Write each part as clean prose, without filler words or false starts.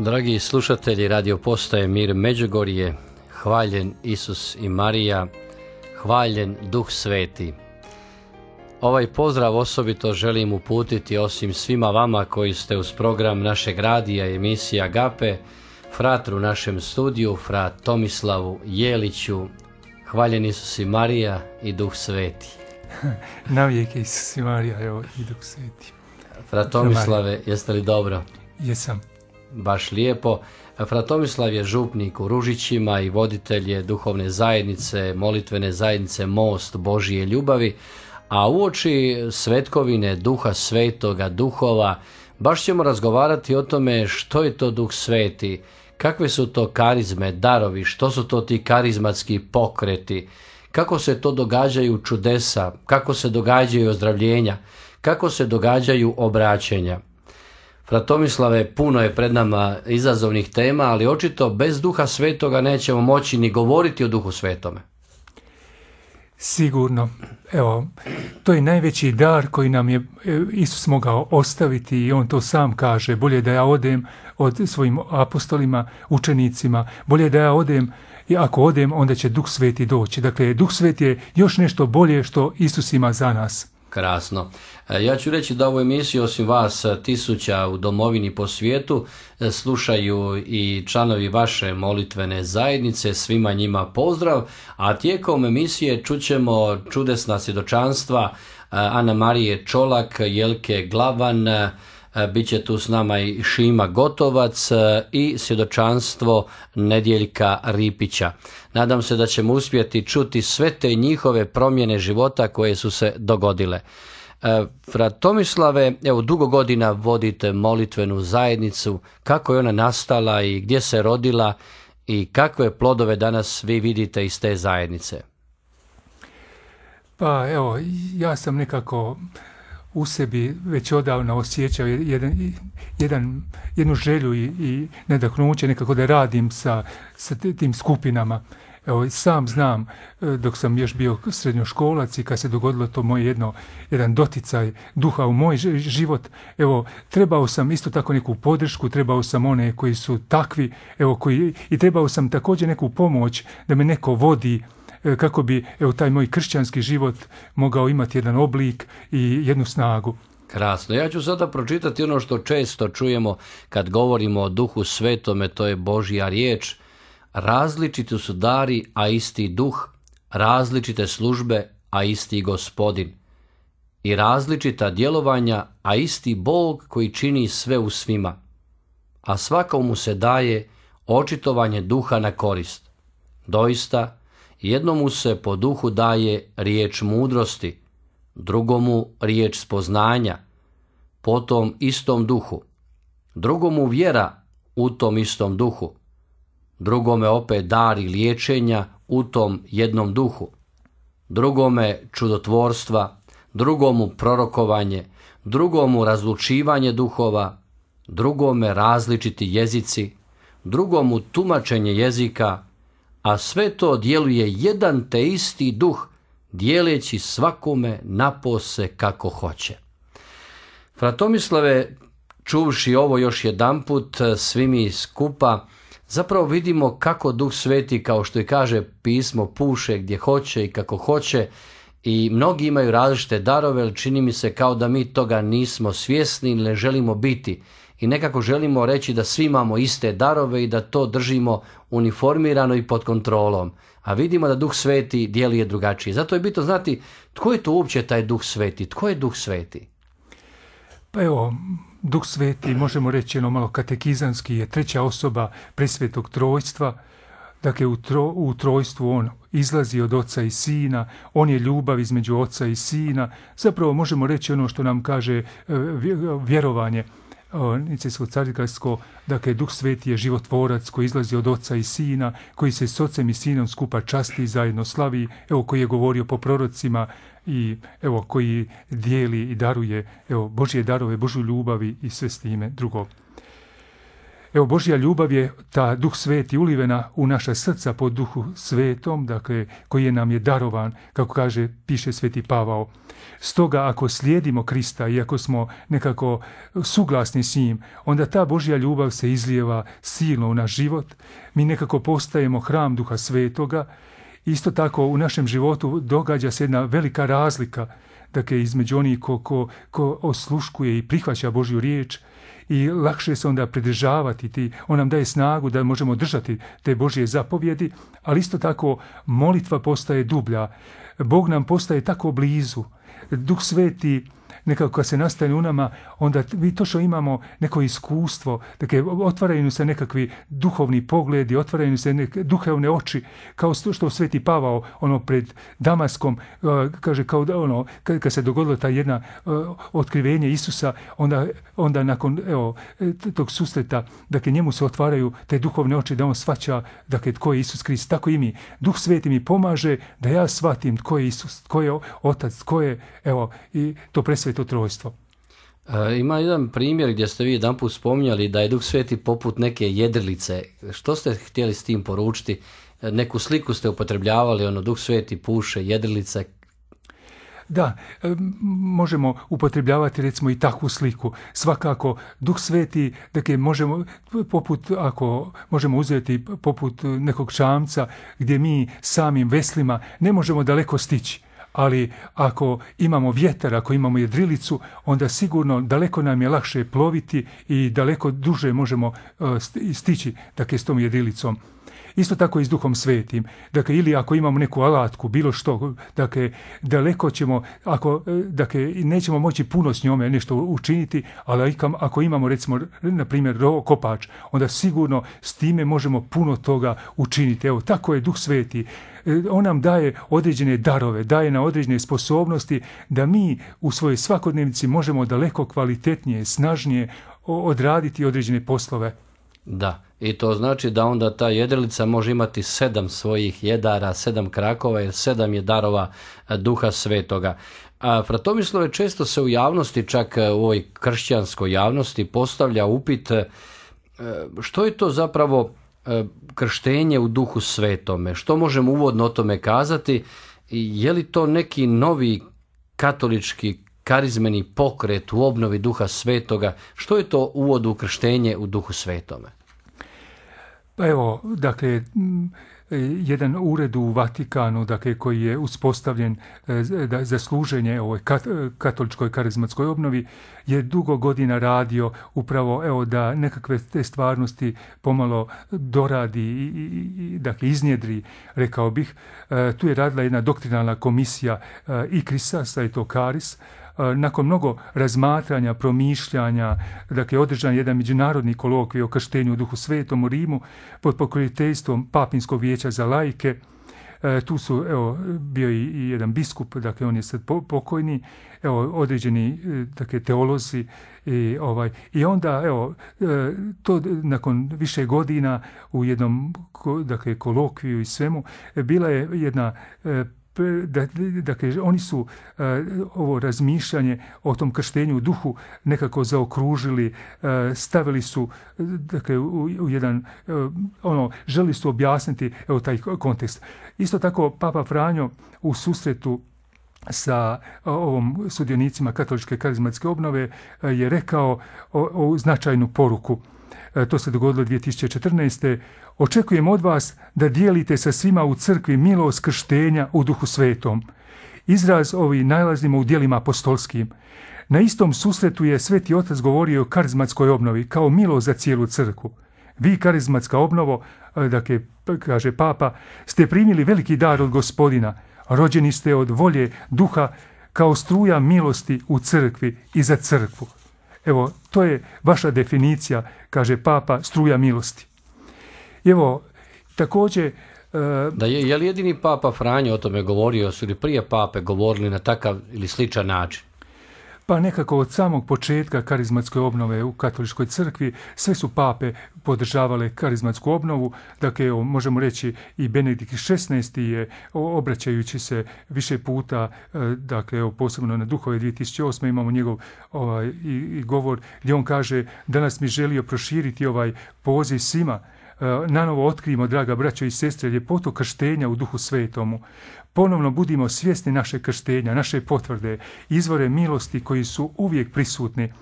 Dragi slušatelji Radio Postaje Mir Međugorje, hvaljen Isus i Marija, hvaljen Duh Sveti. Ovaj pozdrav osobito želim uputiti osim svima vama koji ste uz program našeg radija i emisija Agape, fratru u našem studiju, frat Tomislavu Jeliću, hvaljen Isus i Marija i Duh Sveti. Navijek je Isus i Marija, evo i Duh Sveti. Frat Tomislave, jeste li dobro? Jesam. Baš lijepo. Frat Tomislav je župnik u Ružićima i voditelj je duhovne zajednice, molitvene zajednice Most Božije ljubavi, a uoči svetkovine Duha Svetoga, duhova, baš ćemo razgovarati o tome što je to Duh Sveti, kakve su to karizme, darovi, što su to ti karizmatski pokreti, kako se to događaju čudesa, kako se događaju ozdravljenja, kako se događaju obraćenja. Frat Tomislave, puno je pred nama izazovnih tema, ali očito bez Duha Svetoga nećemo moći ni govoriti o Duhu Svetome. Sigurno. Evo, to je najveći dar koji nam je Isus mogao ostaviti i on to sam kaže. Bolje da ja odem od svojim apostolima, učenicima, bolje da ja odem, i ako odem, onda će Duh Sveti doći. Dakle, Duh Sveti je još nešto bolje što Isus ima za nas. Krasno. Ja ću reći da ovu emisiju osim vas tisuća u domovini po svijetu slušaju i članovi vaše molitvene zajednice, svima njima pozdrav, a tijekom emisije čućemo čudesna svjedočanstva Ana Marije Čolak, Jelke Glavan, bit će tu s nama i Šima Gotovac i svjedočanstvo Nedjeljka Ripića. Nadam se da ćemo uspjeti čuti sve te njihove promjene života koje su se dogodile. Frat Tomislave, evo dugo godina vodite molitvenu zajednicu, kako je ona nastala i gdje se rodila i kakve plodove danas vi vidite iz te zajednice? Pa evo, ja sam nekako u sebi već odavno osjećao jednu želju i nadahnuće nekako da radim sa tim skupinama. Evo, sam znam, dok sam još bio srednjoškolac i kad se dogodilo to moje jedan doticaj duha u moj život, evo, trebao sam isto tako neku podršku, trebao sam one koji su takvi, evo, i trebao sam također neku pomoć da me neko vodi, kako bi taj moj kršćanski život mogao imati jedan oblik i jednu snagu. Krasno. Ja ću sada pročitati ono što često čujemo kad govorimo o Duhu Svetome, to je Božja riječ. Različiti su dari, a isti duh, različite službe, a isti Gospodin. I različita djelovanja, a isti Bog koji čini sve u svima. A svakomu se daje očitovanje duha na korist. Doista, jednomu se po duhu daje riječ mudrosti, drugomu riječ spoznanja, potom istom duhu, drugomu vjera u tom istom duhu, drugome opet dari liječenja u tom jednom duhu, drugome čudotvorstva, drugomu prorokovanje, drugomu razlučivanje duhova, drugome različiti jezici, drugomu tumačenje jezika, a sve to djeluje jedan te isti duh, dijeleći svakome napose kako hoće. Frat Tomislave, čuvši ovo još jedanput, svi mi skupa, zapravo vidimo kako Duh Sveti, kao što i kaže pismo, puše gdje hoće i kako hoće, i mnogi imaju različite darove, ali čini mi se kao da mi toga nismo svjesni ili ne želimo biti. I nekako želimo reći da svi imamo iste darove i da to držimo uniformirano i pod kontrolom. A vidimo da Duh Sveti djeluje drugačije. Zato je bitno znati tko je to uopće taj Duh Sveti. Tko je Duh Sveti? Pa evo, Duh Sveti, možemo reći malo katekizanski, je treća osoba presvetog trojstva. Dakle, u trojstvu on izlazi od Oca i Sina, on je ljubav između Oca i Sina. Zapravo možemo reći ono što nam kaže vjerovanje nicejsko-carigrajsko, dakle Duh Sveti je životvorac koji izlazi od Oca i Sina, koji se s Ocem i Sinom skupa časti i zajedno slavi, evo koji je govorio po prorocima i evo koji dijeli i daruje evo Božje darove, Božju ljubavi i sve s time drugo. Evo, Božja ljubav je ta Duh Sveti ulivena u naša srca po Duhu Svetom, dakle, koji nam je darovan, kako piše Sveti Pavao. Stoga, ako slijedimo Krista i ako smo nekako suglasni s njim, onda ta Božja ljubav se izlijeva silno u naš život. Mi nekako postajemo hram Duha Svetoga. Isto tako u našem životu događa se jedna velika razlika, dakle, između onih ko osluškuje i prihvaća Božju riječ, i lakše se onda pridržavati. On nam daje snagu da možemo držati te Božje zapovjedi, ali isto tako molitva postaje dublja. Bog nam postaje tako blizu. Duh Sveti nekako kad se nastane u nama, onda mi točno imamo neko iskustvo, dakle, otvaraju se nekakvi duhovni pogledi, otvaraju se neke duhovne oči, kao što Sveti Pavao pred Damaskom kaže, kao da kad se dogodilo ta jedna otkrivenje Isusa, onda nakon tog susreta, dakle, njemu se otvaraju te duhovne oči da on shvaća, dakle, tko je Isus Krist. Tako i mi. Duh Sveti mi pomaže da ja shvatim tko je Isus, tko je Otac, tko je, i to presveto trojstvo. Ima jedan primjer gdje ste vi jedanput spominjali da je Duh Sveti poput neke jedrilice. Što ste htjeli s tim poručiti? Neku sliku ste upotrebljavali, Duh Sveti puše, jedrilice. Da, možemo upotrebljavati recimo i takvu sliku. Svakako, Duh Sveti, dakle, možemo uzeti poput nekog čamca gdje mi samim veslima ne možemo daleko stići. Ali ako imamo vjetar, ako imamo jedrilicu, onda sigurno daleko nam je lakše ploviti i daleko duže možemo stići, dakle, s tom jedrilicom. Isto tako i s Duhom Svetim. Dakle, ili ako imamo neku alatku, bilo što, dakle, daleko ćemo, nećemo moći puno s njome nešto učiniti, ali ako imamo, recimo, na primjer, kopač, onda sigurno s time možemo puno toga učiniti. Evo, tako je Duh Sveti. On nam daje određene darove, daje nam određene sposobnosti da mi u svojoj svakodnevnici možemo daleko kvalitetnije, snažnije odraditi određene poslove. Da, i to znači da onda ta jedrilica može imati 7 svojih jedara, 7 krakova, jer 7 je darova Duha Svetoga. Fratomislave, često se u javnosti, čak u ovoj kršćanskoj javnosti, postavlja upit što je to zapravo krštenje u Duhu Svetome. Što možemo uvodno o tome kazati? Je li to neki novi katolički karizmeni pokret u obnovi Duha Svetoga? Što je to uvod u krštenje u Duhu Svetome? Pa evo, dakle, jedan ured u Vatikanu, dakle, koji je uspostavljen za služenje ovoj katoličkoj karizmatskoj obnovi, je dugo godina radio upravo da nekakve te stvarnosti pomalo doradi i dakle, iznjedri, rekao bih. Tu je radila jedna doktrinalna komisija ICRIS-a, sad je to Karis. Nakon mnogo razmatranja, promišljanja, dakle, održan jedan međunarodni kolokvij o krštenju u Duhu Svetom u Rimu pod pokroviteljstvom Papinskog vijeća za laike. Tu su, bio i jedan biskup, dakle, on je sad pokojni, određeni, dakle, teolozi i onda, to nakon više godina u jednom, dakle, kolokviju i svemu, bila je jedna dakle, oni su ovo razmišljanje o tom krštenju u duhu nekako zaokružili, stavili su, dakle, u jedan, želi su objasniti taj kontekst. Isto tako Papa Franjo u susretu sa ovom sudionicima katoličke karizmatske obnove je rekao o značajnu poruku. To se dogodilo 2014. Očekujem od vas da dijelite sa svima u crkvi milost krštenja u Duhu Svetom. Izraz ovi nalazimo u djelima apostolskim. Na istom susretu je Sveti Otac govorio o karizmatskoj obnovi kao milost za cijelu crkvu. Vi, karizmatska obnovo, dakle, kaže Papa, ste primili veliki dar od Gospodina. Rođeni ste od volje Duha kao struja milosti u crkvi i za crkvu. Evo, to je vaša definicija, kaže Papa, struja milosti. Evo, također... Da je li jedini Papa Franjo o tome govorio, su li prije Pape govorili na takav ili sličan način? Pa nekako od samog početka karizmatske obnove u katoličkoj crkvi sve su pape podržavale karizmatsku obnovu. Dakle, evo, možemo reći i Benedikt XVI je, obraćajući se više puta, dakle, evo, posebno na Duhove 2008. imamo njegov i govor gdje on kaže: danas mi želio proširiti ovaj poziv svima. Nanovo otkrijemo, draga braćo i sestre, ljepotu krštenja u Duhu Svetomu. Ponovno budimo svjesni naše krštenja, naše potvrde, izvore milosti koji su uvijek prisutni.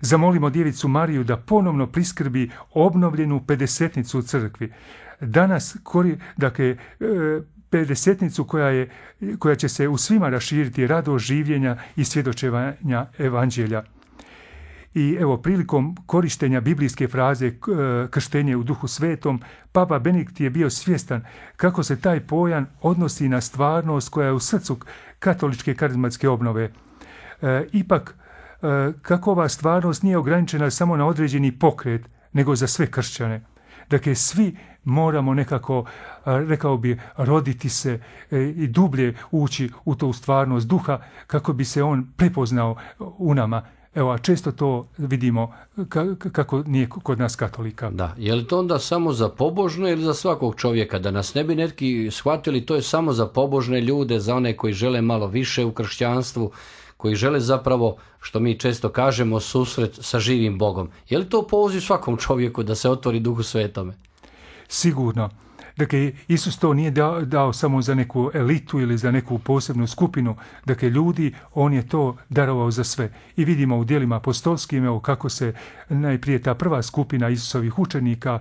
Zamolimo Djevicu Mariju da ponovno priskrbi obnovljenu pedesetnicu u crkvi. Danas, dakle, pedesetnicu koja će se u svima raširiti radost življenja i svjedočevanja evanđelja. I evo, prilikom korištenja biblijske fraze krštenje u Duhu Svetom, Papa Benedikt je bio svjestan kako se taj pojam odnosi na stvarnost koja je u srcu katoličke karizmatske obnove. Ipak, kako ova stvarnost nije ograničena samo na određeni pokret, nego za sve kršćane. Dakle, svi moramo nekako, rekao bi, roditi se i dublje ući u tu stvarnost duha kako bi se on prepoznao u nama. Evo, a često to vidimo kako nije kod nas katolika. Da, je li to onda samo za pobožne ili za svakog čovjeka? Da nas ne bi neki shvatili, to je samo za pobožne ljude, za one koji žele malo više u kršćanstvu, koji žele zapravo, što mi često kažemo, susret sa živim Bogom. Je li to poziv svakom čovjeku da se otvori Duhu Svetome? Sigurno. Dakle, Isus to nije dao samo za neku elitu ili za neku posebnu skupinu. Dakle, ljudi, on je to darovao za sve. I vidimo u djelima apostolskim, evo, kako se najprije ta prva skupina Isusovih učenika,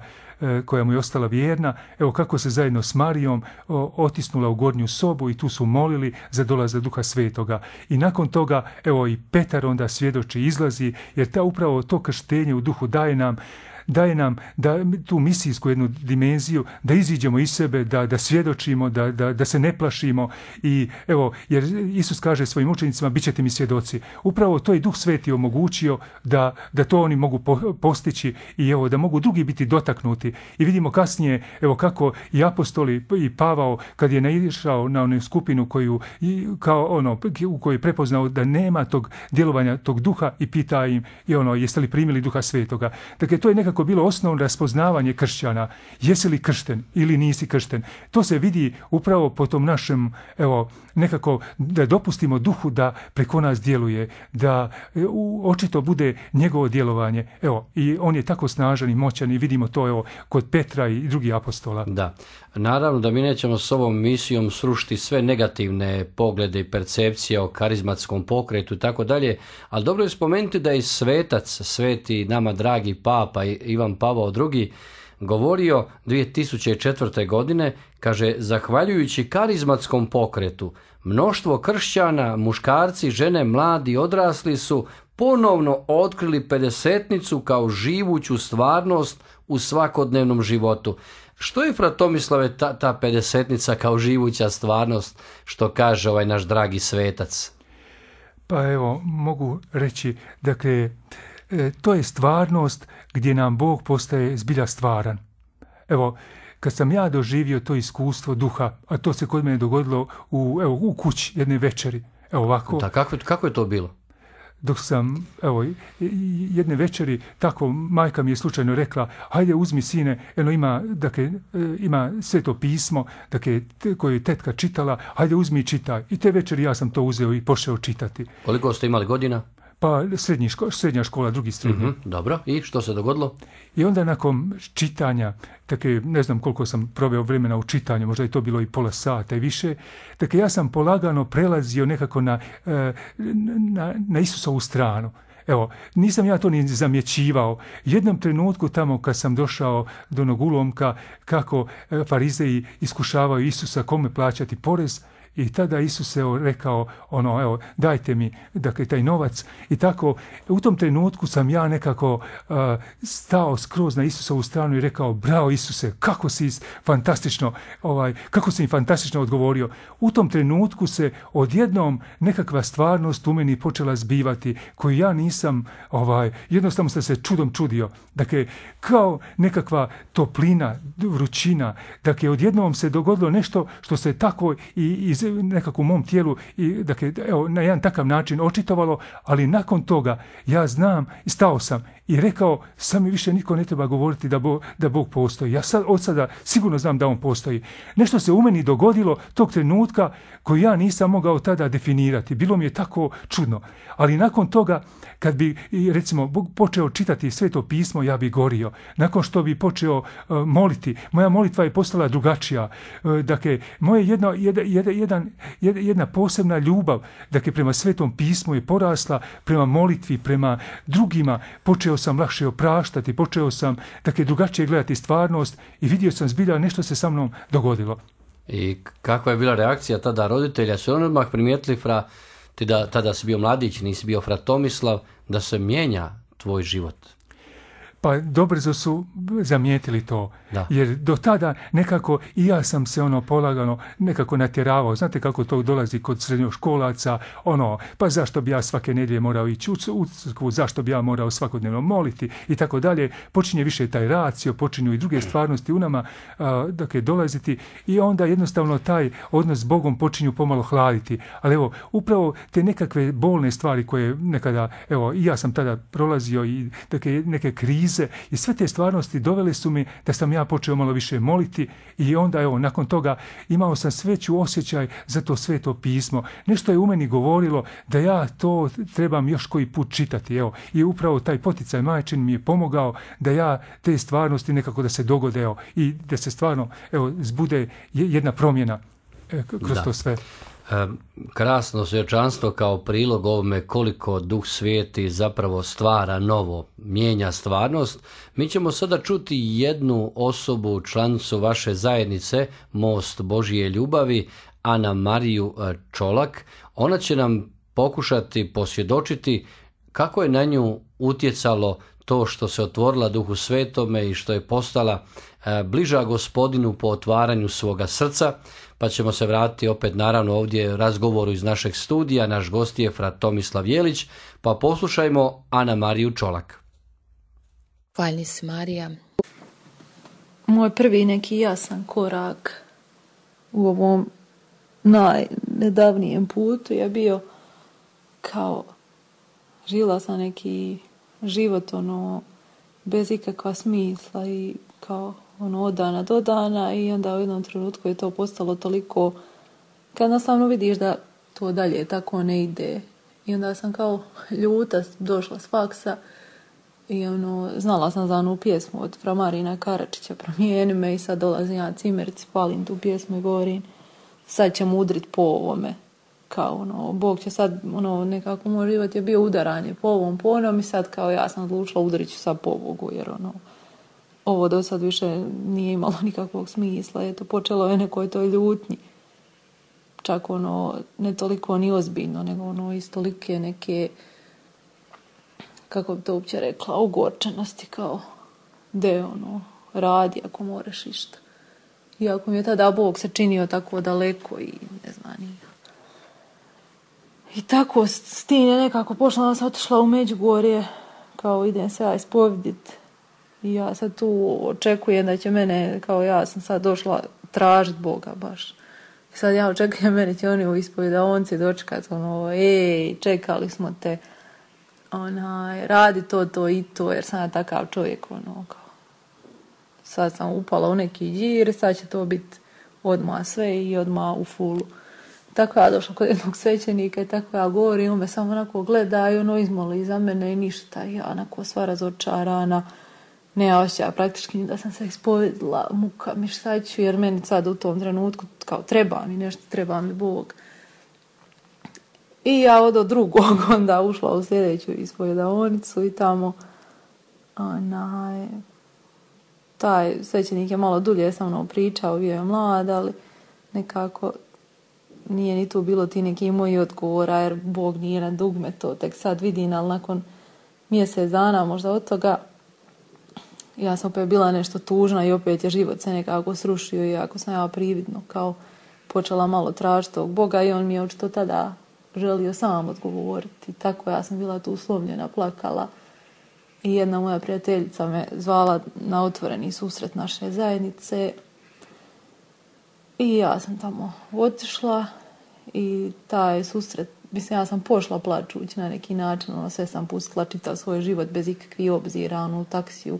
koja mu je ostala vjerna, evo kako se zajedno s Marijom otisnula u gornju sobu i tu su molili za dolazak Duha Svetoga. I nakon toga, evo, i Petar onda svjedoči, izlazi, jer upravo to krštenje u duhu daje nam da tu misijsku jednu dimenziju, da iziđemo iz sebe, da svjedočimo, da se ne plašimo. I evo, jer Isus kaže svojim učenicima: bit ćete mi svjedoci. Upravo to je Duh Sveti omogućio da to oni mogu postići i evo, da mogu drugi biti dotaknuti. I vidimo kasnije, evo, kako i apostoli i Pavao, kad je naišao na onu skupinu u kojoj je prepoznao da nema tog djelovanja tog duha i pita im: jeste li primili Duha Svetoga? Dakle, to je nekako bilo osnovno raspoznavanje kršćana. Jesi li kršten ili nisi kršten? To se vidi upravo po tom našem, evo, nekako da dopustimo duhu da preko nas djeluje, da očito bude njegovo djelovanje. Evo, i on je tako snažan i moćan i vidimo to, evo, kod Petra i drugih apostola. Da. Naravno da mi nećemo s ovom misijom srušiti sve negativne poglede i percepcije o karizmatskom pokretu i tako dalje, ali dobro je spomenuti da je svetac, sveti nama dragi Papa Ivan Pavao II govorio 2004. godine, kaže: zahvaljujući karizmatskom pokretu, mnoštvo kršćana, muškarci, žene, mladi, odrasli su ponovno otkrili pedesetnicu kao živuću stvarnost u svakodnevnom životu. Što je, fra Tomislave, ta pedesetnica kao živuća stvarnost, što kaže ovaj naš dragi svetac? Pa evo, mogu reći, dakle, to je stvarnost gdje nam Bog postaje zbilja stvaran. Evo, kad sam ja doživio to iskustvo duha, a to se kod mene dogodilo u kući jedne večeri. Evo ovako. Da, kako je to bilo? Dok sam, evo, jedne večeri, tako majka mi je slučajno rekla: hajde uzmi sine, ima Sveto pismo, koje je tetka čitala, hajde uzmi i čitaj. I te večeri ja sam to uzeo i pošao čitati. Koliko ste imali godina? Pa srednja škola, drugi srednji. Dobro, i što se dogodilo? I onda nakon čitanja, ne znam koliko sam proveo vremena u čitanju, možda je to bilo i pola sata i više, ja sam polagano prelazio nekako na Isusovu stranu. Evo, nisam ja to ni zamjećivao. Jednom trenutku tamo kad sam došao do onog ulomka kako farizeji iskušavaju Isusa kome plaćati porez, i tada Isus je rekao, dajte mi, taj novac. I tako, u tom trenutku sam ja nekako stao skroz na Isusovu stranu i rekao: bravo Isuse, kako si fantastično odgovorio. U tom trenutku se odjednom nekakva stvarnost u meni počela zbivati, koju ja nisam, jednostavno sam se čudom čudio. Dakle, kao nekakva toplina, vrućina. Dakle, odjednom se dogodilo nešto što se tako i iz nekako u mom tijelu i dakle, evo, na jedan takav način očitovalo, ali nakon toga ja znam i stao sam i rekao, sam mi više niko ne treba govoriti da Bog postoji. Ja od sada sigurno znam da on postoji. Nešto se u meni dogodilo tog trenutka koji ja nisam mogao tada definirati. Bilo mi je tako čudno. Ali nakon toga, kad bi, recimo, Bog počeo čitati Sveto pismo, ja bi gorio. Nakon što bi počeo moliti, moja molitva je postala drugačija. Dakle, moje jedna posebna ljubav, dakle, prema Svetom pismu je porasla, prema molitvi, prema drugima. Počeo sam lakše opraštati, počeo sam, dakle, drugačije gledati stvarnost i vidio sam zbilja nešto se sa mnom dogodilo. I kakva je bila reakcija tada roditelja? Su oni odmah primijetili, ti da tada si bio mladić, nisi bio fra Tomislav, da se mijenja tvoj život? Pa dobrzo su zamijetili to, da. Jer do tada nekako i ja sam se polagano nekako natjeravao. Znate kako to dolazi kod srednjoškolaca, pa zašto bi ja svake nedjelje morao ići u crkvu, zašto bi ja morao svakodnevno moliti i tako dalje. Počinje više taj racio, počinju i druge stvarnosti u nama dakle, dolaziti i onda jednostavno taj odnos s Bogom počinju pomalo hladiti. Ali evo, upravo te nekakve bolne stvari koje nekada, evo, i ja sam tada prolazio i dakle, neke krize i sve te stvarnosti dovele su mi da sam ja počeo malo više moliti i onda evo nakon toga imao sam sveću osjećaj za to Sveto pismo. Nešto je u meni govorilo da ja to trebam još koji put čitati. Evo. I upravo taj poticaj majčin mi je pomogao da ja te stvarnosti nekako da se dogode i da se stvarno zbude jedna promjena kroz to sve. Krasno svjedočanstvo kao prilog ovome koliko Duh Sveti zapravo stvara novo, mijenja stvarnost. Mi ćemo sada čuti jednu osobu, članicu vaše zajednice, Most Božije ljubavi, Ana Mariju Čolak. Ona će nam pokušati posvjedočiti kako je na nju utjecalo to što se otvorila Duhu Svetome i što je postala bliža Gospodinu po otvaranju svoga srca. Pa ćemo se vratiti opet naravno ovdje razgovoru iz našeg studija. Naš gost je fra Tomislav Jelić, pa poslušajmo Ana Mariju Čolak. Hvalni se Marija. Moj prvi neki jasan korak u ovom najnedavnijem putu je bio kao žila sam neki život bez ikakva smisla i kao od dana do dana i onda u jednom trenutku je to postalo toliko kad nastavno vidiš da to dalje tako ne ide i onda sam kao ljuta došla s faksa i znala sam za onu pjesmu od fra Marina Karačića Promijeni me i sad dolazim ja cimerci, palim tu pjesmu i govorim sad ćemo udrit po ovome kao Bog će sad nekako moj život je bio udaranje po ovom po onom i sad kao ja sam odlučila udarit ću sad po Bogu jer ovo do sad više nije imalo nikakvog smisla. Eto, počelo je nekoj toj ljutnji. Čak ne toliko ni ozbiljno, nego iz tolike neke, kako bi to uopće rekla, ogorčenosti kao radi ako moraš išta. Iako mi je tada Bog se činio tako daleko i ne znam. I tako s tim je nekako pošla, ona sam otišla u Međugorje, kao idem se ja ispovediti. I ja sad tu očekujem da će mene, kao ja sam sad došla tražiti Boga baš. I sad ja očekujem, mene će oni u ispovedaonici dočekati, čekali smo te, radi to i to, jer sam ja takav čovjek, kao. Sad sam upala u neki đir, sad će to biti odmah sve i odmah u fulu. Tako ja došla kod jednog svećenika i tako ja govorim, on me samo onako gleda i izmoli za mene i ništa. I ja onako sva razočarana. Ne osjeća praktički da sam se ispovedila, muka mi šta ću, jer meni sad u tom trenutku kao treba mi nešto, treba mi Bog. I ja od drugog onda ušla u sljedeću ispovedaonicu i tamo taj svećenik je malo dulje sa mnom pričao, bio je mlad, ali nekako nije ni tu bilo ti neki moji odgovora, jer Bog nije na dugme, to tek sad vidim, ali nakon mjesec dana možda od toga ja sam opet bila nešto tužna i opet je život se nekako srušio i ako sam ja prividno kao počela malo tražiti tog Boga i on mi je očito tada želio sam odgovoriti. Tako ja sam bila tu uslomljena, plakala i jedna moja prijateljica me zvala na otvoreni susret naše zajednice i ja sam tamo otišla i taj susret, mislim, ja sam pošla plačući na neki način, sve sam pustila čitav svoj život bez ikakvih obzira, u taksiju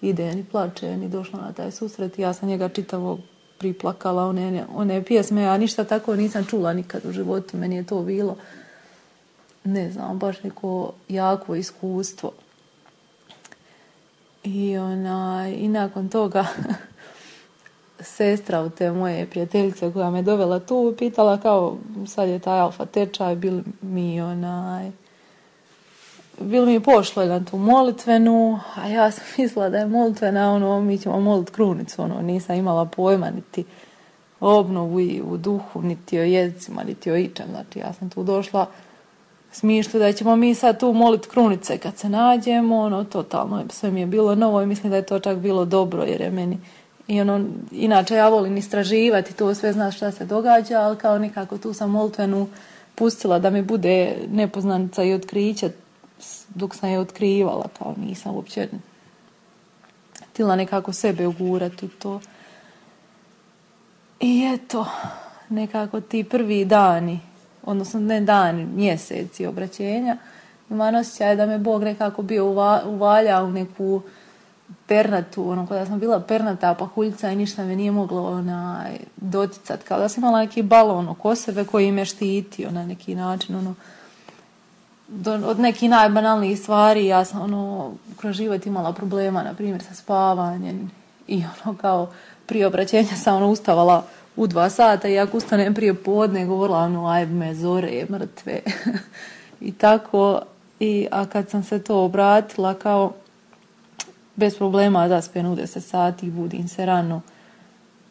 ide, ni plače, ni došla na taj susret. Ja sam njega čitavog priplakala, one pjesme, ja ništa tako nisam čula nikad u životu, meni je to bilo, ne znam, baš neko jako iskustvo. I nakon toga sestra od te moje prijateljice koja me dovela tu pitala kao sad je taj alfa tečaj, bil mi pošlo na tu molitvenu, a ja sam mislila da je molitvena, mi ćemo molit krunicu, nisam imala pojma niti o obnovu i u duhu, niti o jezicima, niti o ičem. Znači ja sam tu došla smišlju da ćemo mi sad tu molit krunice kad se nađemo, totalno sve mi je bilo novo i mislim da je to čak bilo dobro jer je meni inače ja volim istraživati to sve, znaš šta se događa, ali kao nekako tu sam molitvenu pustila da mi bude nepoznanica i otkriće dok sam je otkrivala, kao nisam uopće htjela nekako sebe ugurati u to. I eto, nekako ti prvi dani, odnosno ne dani, mjeseci obraćenja, imam osjećaj da me Bog nekako bio uvaljao u neku pernatu, kada sam bila pernata pahuljica i ništa me nije moglo doticat, kao da sam imala neki balon oko sebe koji me štitio na neki način, od nekih najbanalnijih stvari. Ja sam kroz život imala problema, na primjer sa spavanjem i kao prije obraćenja sam ustavala u 2 sata i ako ustanem prije podne govorila aj me zore mrtve i tako. A kad sam se to obratila kao bez problema zaspem u 10 sati, budim se rano,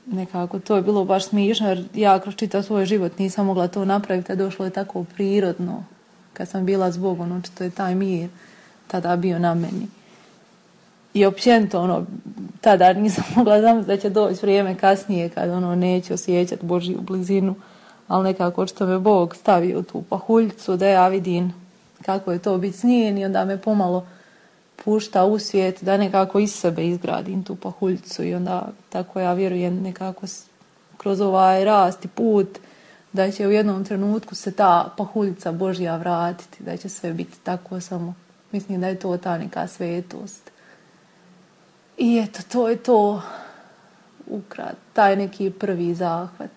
nekako to je bilo baš smišno jer ja kroz čitav svoj život nisam mogla to napraviti, a došlo je tako prirodno. Kad sam bila s Bogom, očito je taj mir tada bio na meni. I općenito, tada nisam mogla zamisliti da će doći vrijeme kasnije kad neće osjećati Božju blizinu, ali nekako očito me Bog stavio tu pahuljicu da ja vidim kako je to biti s njim i onda me pomalo pušta u svijet da nekako iz sebe izgradim tu pahuljicu i onda tako ja vjerujem nekako kroz ovaj rast i put da će u jednom trenutku se ta pahuljica Božja vratiti, da će sve biti tako, samo mislim da je to ta neka svetost. I eto, to je to ukrat, taj neki prvi zahvat.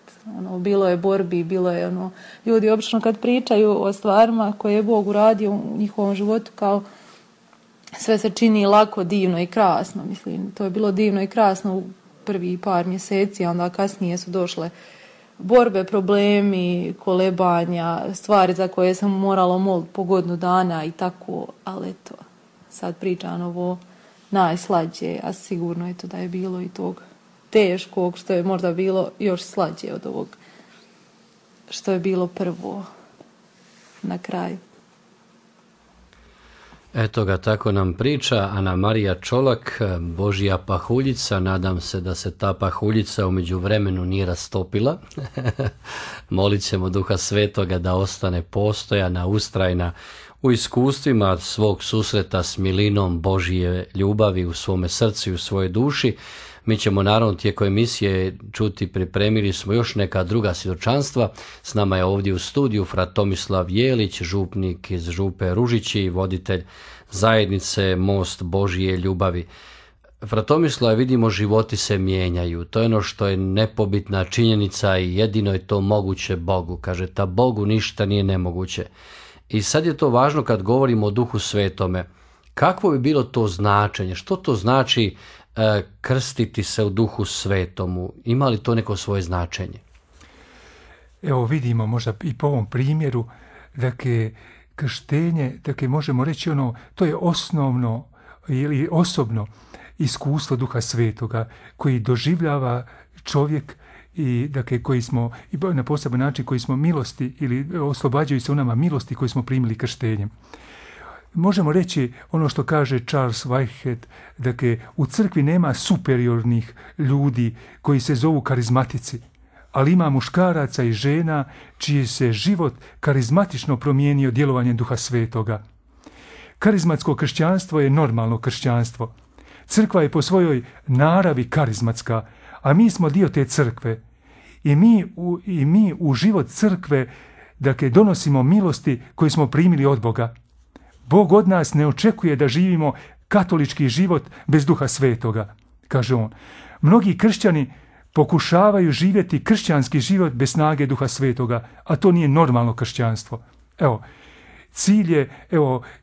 Bilo je borbi, bilo je ljudi obično kad pričaju o stvarima koje je Bog uradio u njihovom životu, kao sve se čini lako, divno i krasno. Mislim, to je bilo divno i krasno u prvi par mjeseci, a onda kasnije su došle borbe, problemi, kolebanja, stvari za koje sam morala moliti po godinu dana i tako, ali eto, sad pričam ovo najslađe, a sigurno je to da je bilo i tog teškog, što je možda bilo još slađe od ovog što je bilo prvo na kraju. Eto ga, tako nam priča Ana Marija Čolak, Božja pahuljica. Nadam se da se ta pahuljica u međuvremenu nije rastopila. Molit ćemo Duha Svetoga da ostane postojana, ustrajna u iskustvima svog susreta s milinom Božje ljubavi u svome srcu i u svojoj duši. Mi ćemo naravno tijekom emisije čuti, pripremili smo još neka druga svjedočanstva. S nama je ovdje u studiju fra Tomislav Jelić, župnik iz Župe Ružići i voditelj zajednice Most Božje ljubavi. Fra Tomislav, vidimo, životi se mijenjaju. To je ono što je nepobitna činjenica i jedino je to moguće Bogu. Kaže, ta Bogu ništa nije nemoguće. I sad je to važno kad govorimo o Duhu Svetome. Kakvo bi bilo to značenje? Što to znači krstiti se u Duhu Svetomu? Ima li to neko svoje značenje? Evo vidimo možda i po ovom primjeru, dakle, krštenje, dakle, možemo reći to je osnovno ili osobno iskustvo Duha Svetoga koji doživljava čovjek i dakle koji smo i na poseban način koji smo milosti ili oslobađaju se u nama milosti koji smo primili krštenjem. Možemo reći ono što kaže Charles Whitehead, dakle u crkvi nema superiornih ljudi koji se zovu karizmatici, ali ima muškaraca i žena čiji se život karizmatično promijenio djelovanjem Duha Svetoga. Karizmatsko kršćanstvo je normalno kršćanstvo. Crkva je po svojoj naravi karizmatska, a mi smo dio te crkve. I mi u život crkve, dakle, donosimo milosti koje smo primili od Boga. Bog od nas ne očekuje da živimo katolički život bez Duha Svetoga, kaže on. Mnogi kršćani pokušavaju živjeti kršćanski život bez snage Duha Svetoga, a to nije normalno kršćanstvo. Evo, cilj je,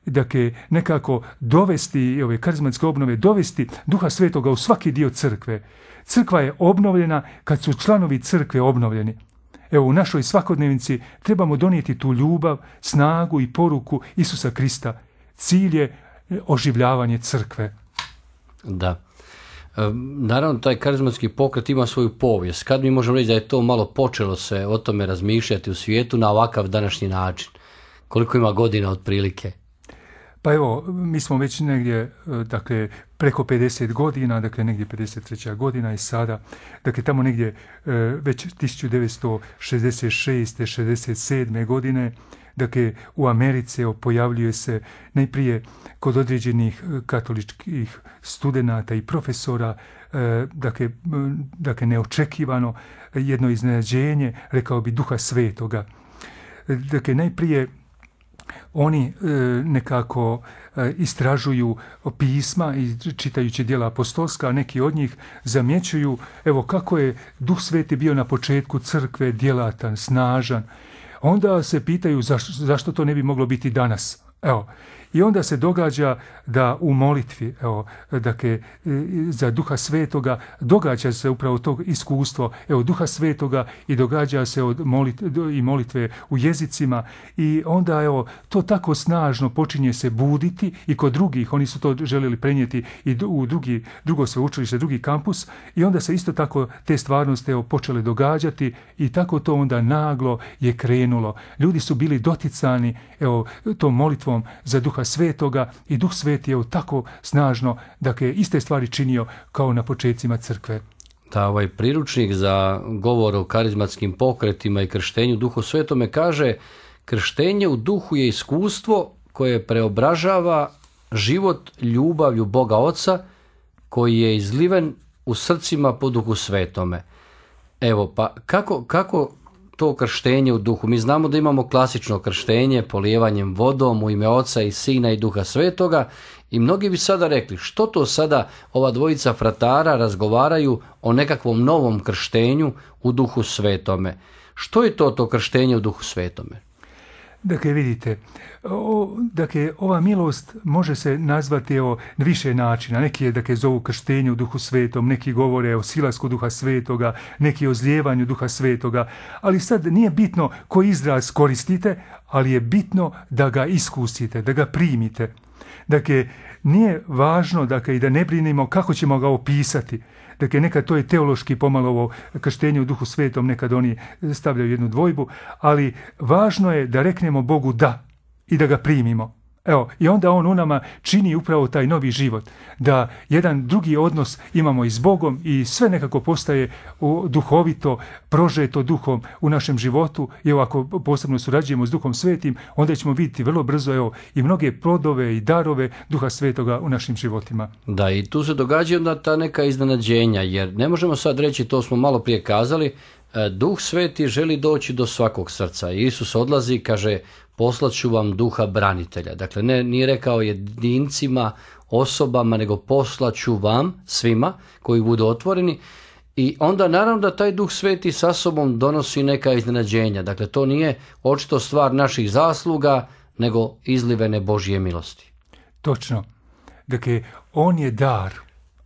dakle, nekako dovesti, ove karizmatske obnove, dovesti Duha Svetoga u svaki dio crkve. Crkva je obnovljena kad su članovi crkve obnovljeni. Evo, u našoj svakodnevnici trebamo donijeti tu ljubav, snagu i poruku Isusa Krista. Cilj je oživljavanje crkve. Da. Naravno, taj karizmatski pokret ima svoju povijest. Kad mi možemo reći da je to malo počelo se o tome razmišljati u svijetu na ovakav današnji način? Koliko ima godina otprilike? Pa evo, mi smo već negdje, dakle, preko 50 godina, dakle, negdje 53. godina i sada, dakle, tamo negdje već 1966. 67. godine, dakle, u Americi pojavljuje se najprije kod određenih katoličkih studenata i profesora, dakle, neočekivano jedno iznenađenje, rekao bi, Duha Svetoga. Dakle, najprije oni nekako istražuju pisma i čitajući djela apostolska, a neki od njih zamjećuju, evo, kako je Duh Sveti bio na početku crkve djelatan, snažan. Onda se pitaju zašto to ne bi moglo biti danas. Evo, i onda se događa da u molitvi, dakle, za Duha Svetoga, događa se upravo to iskustvo, Duha Svetoga, i događa se i molitve u jezicima, i onda, to tako snažno počinje se buditi i kod drugih, oni su to željeli prenijeti i u drugo sveučilište, drugi kampus, i onda se isto tako te stvarnosti, počele događati, i tako to onda naglo je krenulo. Ljudi su bili doticani, tom molitvom za Duha Svetoga, i Duh Sveti je tako snažno, dakle, iste stvari činio kao na počecima crkve. Da, ovaj priručnik za govor o karizmatskim pokretima i krštenju Duhu Svetome kaže: krštenje u duhu je iskustvo koje preobražava život ljubavlju Boga Oca koji je izliven u srcima po Duhu Svetome. Evo, pa kako to krštenje u duhu? Mi znamo da imamo klasično krštenje polijevanjem vodom u ime Oca i Sina i Duha Svetoga, i mnogi bi sada rekli, što to sada ova dvojica fratara razgovaraju o nekakvom novom krštenju u Duhu Svetome? Što je to krštenje u Duhu Svetome? Dakle, vidite, ova milost može se nazvati na više načina. Neki je, dakle, zovu krštenje u Duhu Svetom, neki govore o silasku Duha Svetoga, neki o zlijevanju Duha Svetoga, ali sad nije bitno koji izraz koristite, ali je bitno da ga iskusite, da ga primite. Dakle, nije važno, dakle, i da ne brinimo kako ćemo ga opisati. Dakle, nekad to je teološki pomalo ovo krštenje u Duhu Svetom, nekad oni stavljaju jednu dvojbu, ali važno je da reknemo Bogu da i da ga primimo. I onda on u nama čini upravo taj novi život, da jedan drugi odnos imamo i s Bogom, i sve nekako postaje duhovito, prožeto Duhom u našem životu. I ako posebno surađujemo s Duhom Svetim, onda ćemo vidjeti vrlo brzo i mnoge plodove i darove Duha Svetoga u našim životima. Da, i tu se događaju onda ta neka iznenađenja, jer ne možemo sad reći, to smo malo prije kazali, Duh Sveti želi doći do svakog srca. Isus odlazi, kaže: poslaću vam Duha branitelja. Dakle, nije rekao jedincima, osobama, nego poslaću vam, svima koji budu otvoreni. I onda naravno da taj Duh Sveti sa sobom donosi neka iznenađenja. Dakle, to nije očito stvar naših zasluga, nego izlivene Božje milosti. Točno. Dakle, on je dar.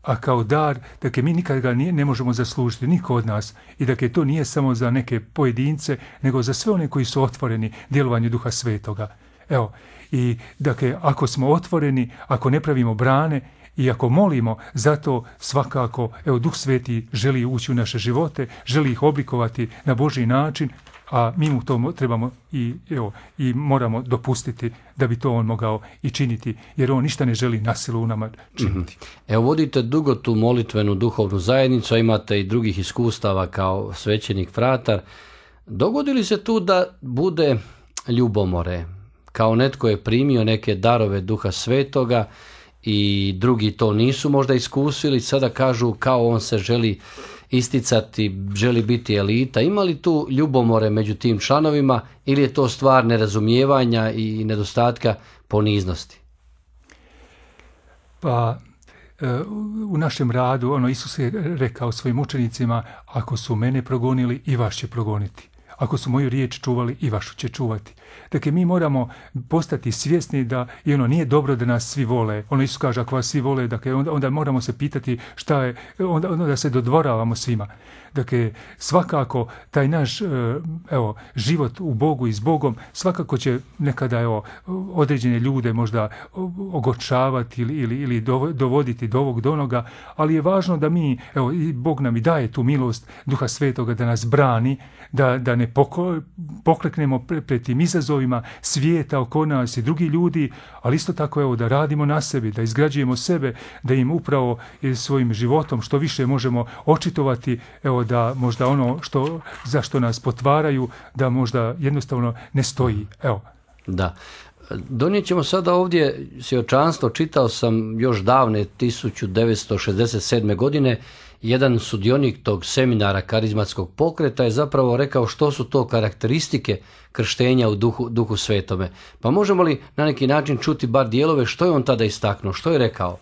A kao dar, dakle, mi nikad ga ne možemo zaslužiti, niko od nas. I dakle, to nije samo za neke pojedince, nego za sve one koji su otvoreni djelovanju Duha Svetoga. I dakle, ako smo otvoreni, ako ne pravimo brane i ako molimo, zato svakako, Duh Sveti želi ući u naše živote, želi ih oblikovati na Božji način, a mi mu to trebamo i moramo dopustiti da bi to on mogao i činiti, jer on ništa ne želi na silu u nama činiti. Vodite dugo tu molitvenu duhovnu zajednicu, a imate i drugih iskustava kao svećenik fratar. Dogodi li se tu da bude ljubomore? Kao netko je primio neke darove Duha Svetoga i drugi to nisu možda iskusili, sada kažu kao on se želi isticati, želi biti elita. Ima li tu ljubomore među tim članovima ili je to stvar nerazumijevanja i nedostatka poniznosti? Pa u našem radu, Isus je rekao svojim učenicima, ako su mene progonili, i vas će progoniti. Ako su moju riječ čuvali, i vašu će čuvati. Dakle, mi moramo postati svjesni da nije dobro da nas svi vole. Isus kaže, ako vas svi vole, dakle, onda moramo se pitati šta je, onda da se dodvoravamo svima. Dakle, svakako taj naš život u Bogu i s Bogom svakako će nekada određene ljude možda ogorčavati ili dovoditi do ovog do onoga, ali je važno da mi, i Bog nam i daje tu milost Duha Svetoga da nas brani, da ne pokleknemo pred tim izazovima svijeta oko nas i drugi ljudi, ali isto tako da radimo na sebi, da izgrađujemo sebe, da im upravo svojim životom što više možemo očitovati, da možda zašto nas potvaraju, da možda jednostavno ne stoji. Da. Donijet ćemo sada ovdje svjedočanstvo, čitao sam još davne 1967. godine, jedan sudionik tog seminara karizmatskog pokreta je zapravo rekao što su to karakteristike krštenja u duhu svetome. Pa možemo li na neki način čuti bar dijelove što je on tada istaknuo, što je rekao?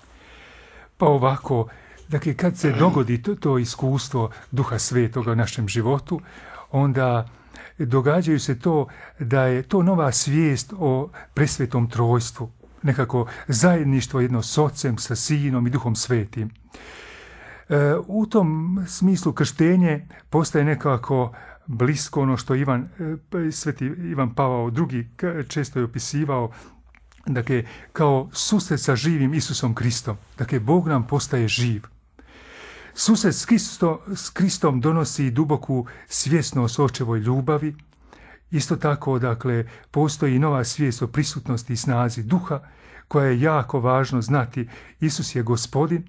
Pa ovako, dakle, kad se dogodi to iskustvo Duha Svetoga u našem životu, onda događaju se to da je to nova svijest o presvetom trojstvu, nekako zajedništvo jedno s Ocem, sa Sinom i Duhom Svetim. U tom smislu krštenje postaje nekako blisko ono što sveti Ivan Pavao II često je opisivao, dakle, kao susret sa živim Isusom Kristom. Dakle, Bog nam postaje živ. Susret s Kristom donosi duboku svjesnost očevoj ljubavi. Isto tako, dakle, postoji nova svijest o prisutnosti i snazi Duha, koja je jako važno znati. Isus je Gospodin.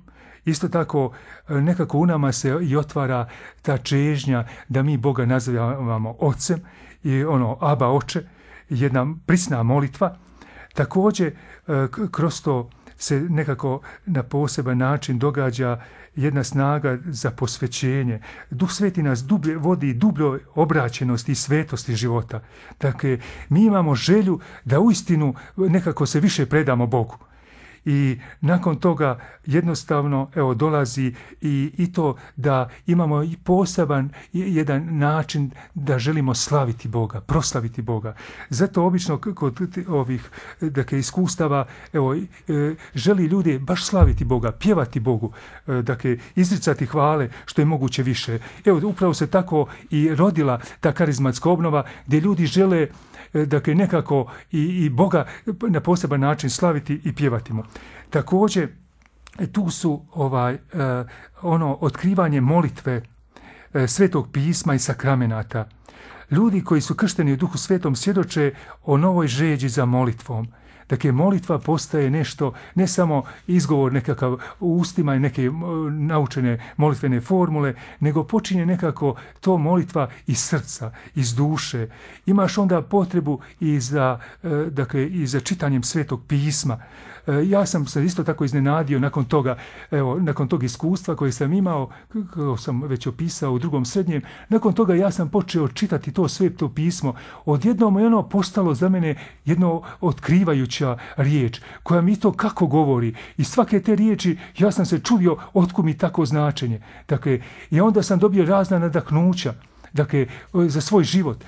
Isto tako, nekako u nama se i otvara ta čežnja da mi Boga nazivamo Ocem i Aba Oče, jedna prisna molitva. Također, kroz to se nekako na poseban način događa jedna snaga za posvećenje. Duh Sveti nas vodi dubljoj obraćenosti i svetosti života. Dakle, mi imamo želju da uistinu nekako se više predamo Bogu. I nakon toga jednostavno dolazi i to da imamo i poseban jedan način da želimo slaviti Boga, proslaviti Boga. Zato obično kod ovih iskustava želi ljudi baš slaviti Boga, pjevati Bogu, izricati hvale što je moguće više. Upravo se tako i rodila ta karizmatska obnova gdje ljudi žele nekako i Boga na poseban način slaviti i pjevati mu. Također, tu su otkrivanje molitve, Svetog pisma i sakramenata. Ljudi koji su kršteni u Duhu Svetom svjedoče o novoj žeđi za molitvom. Dakle, molitva postaje nešto, ne samo izgovor nekakav u ustima i neke naučene molitvene formule, nego počinje nekako to molitva iz srca, iz duše. Imaš onda potrebu i za čitanjem Svetog pisma. Ja sam se isto tako iznenadio nakon tog iskustva koje sam imao, kako sam već opisao u drugom srednjem, nakon toga ja sam počeo čitati to Sveto pismo. Odjednom je postalo za mene jedno otkrivajuća riječ, koja mi to kako govori. I svake te riječi ja sam se čudio otkud mi tako značenje. Dakle, i onda sam dobio razna nadahnuća. Dakle, za svoj život,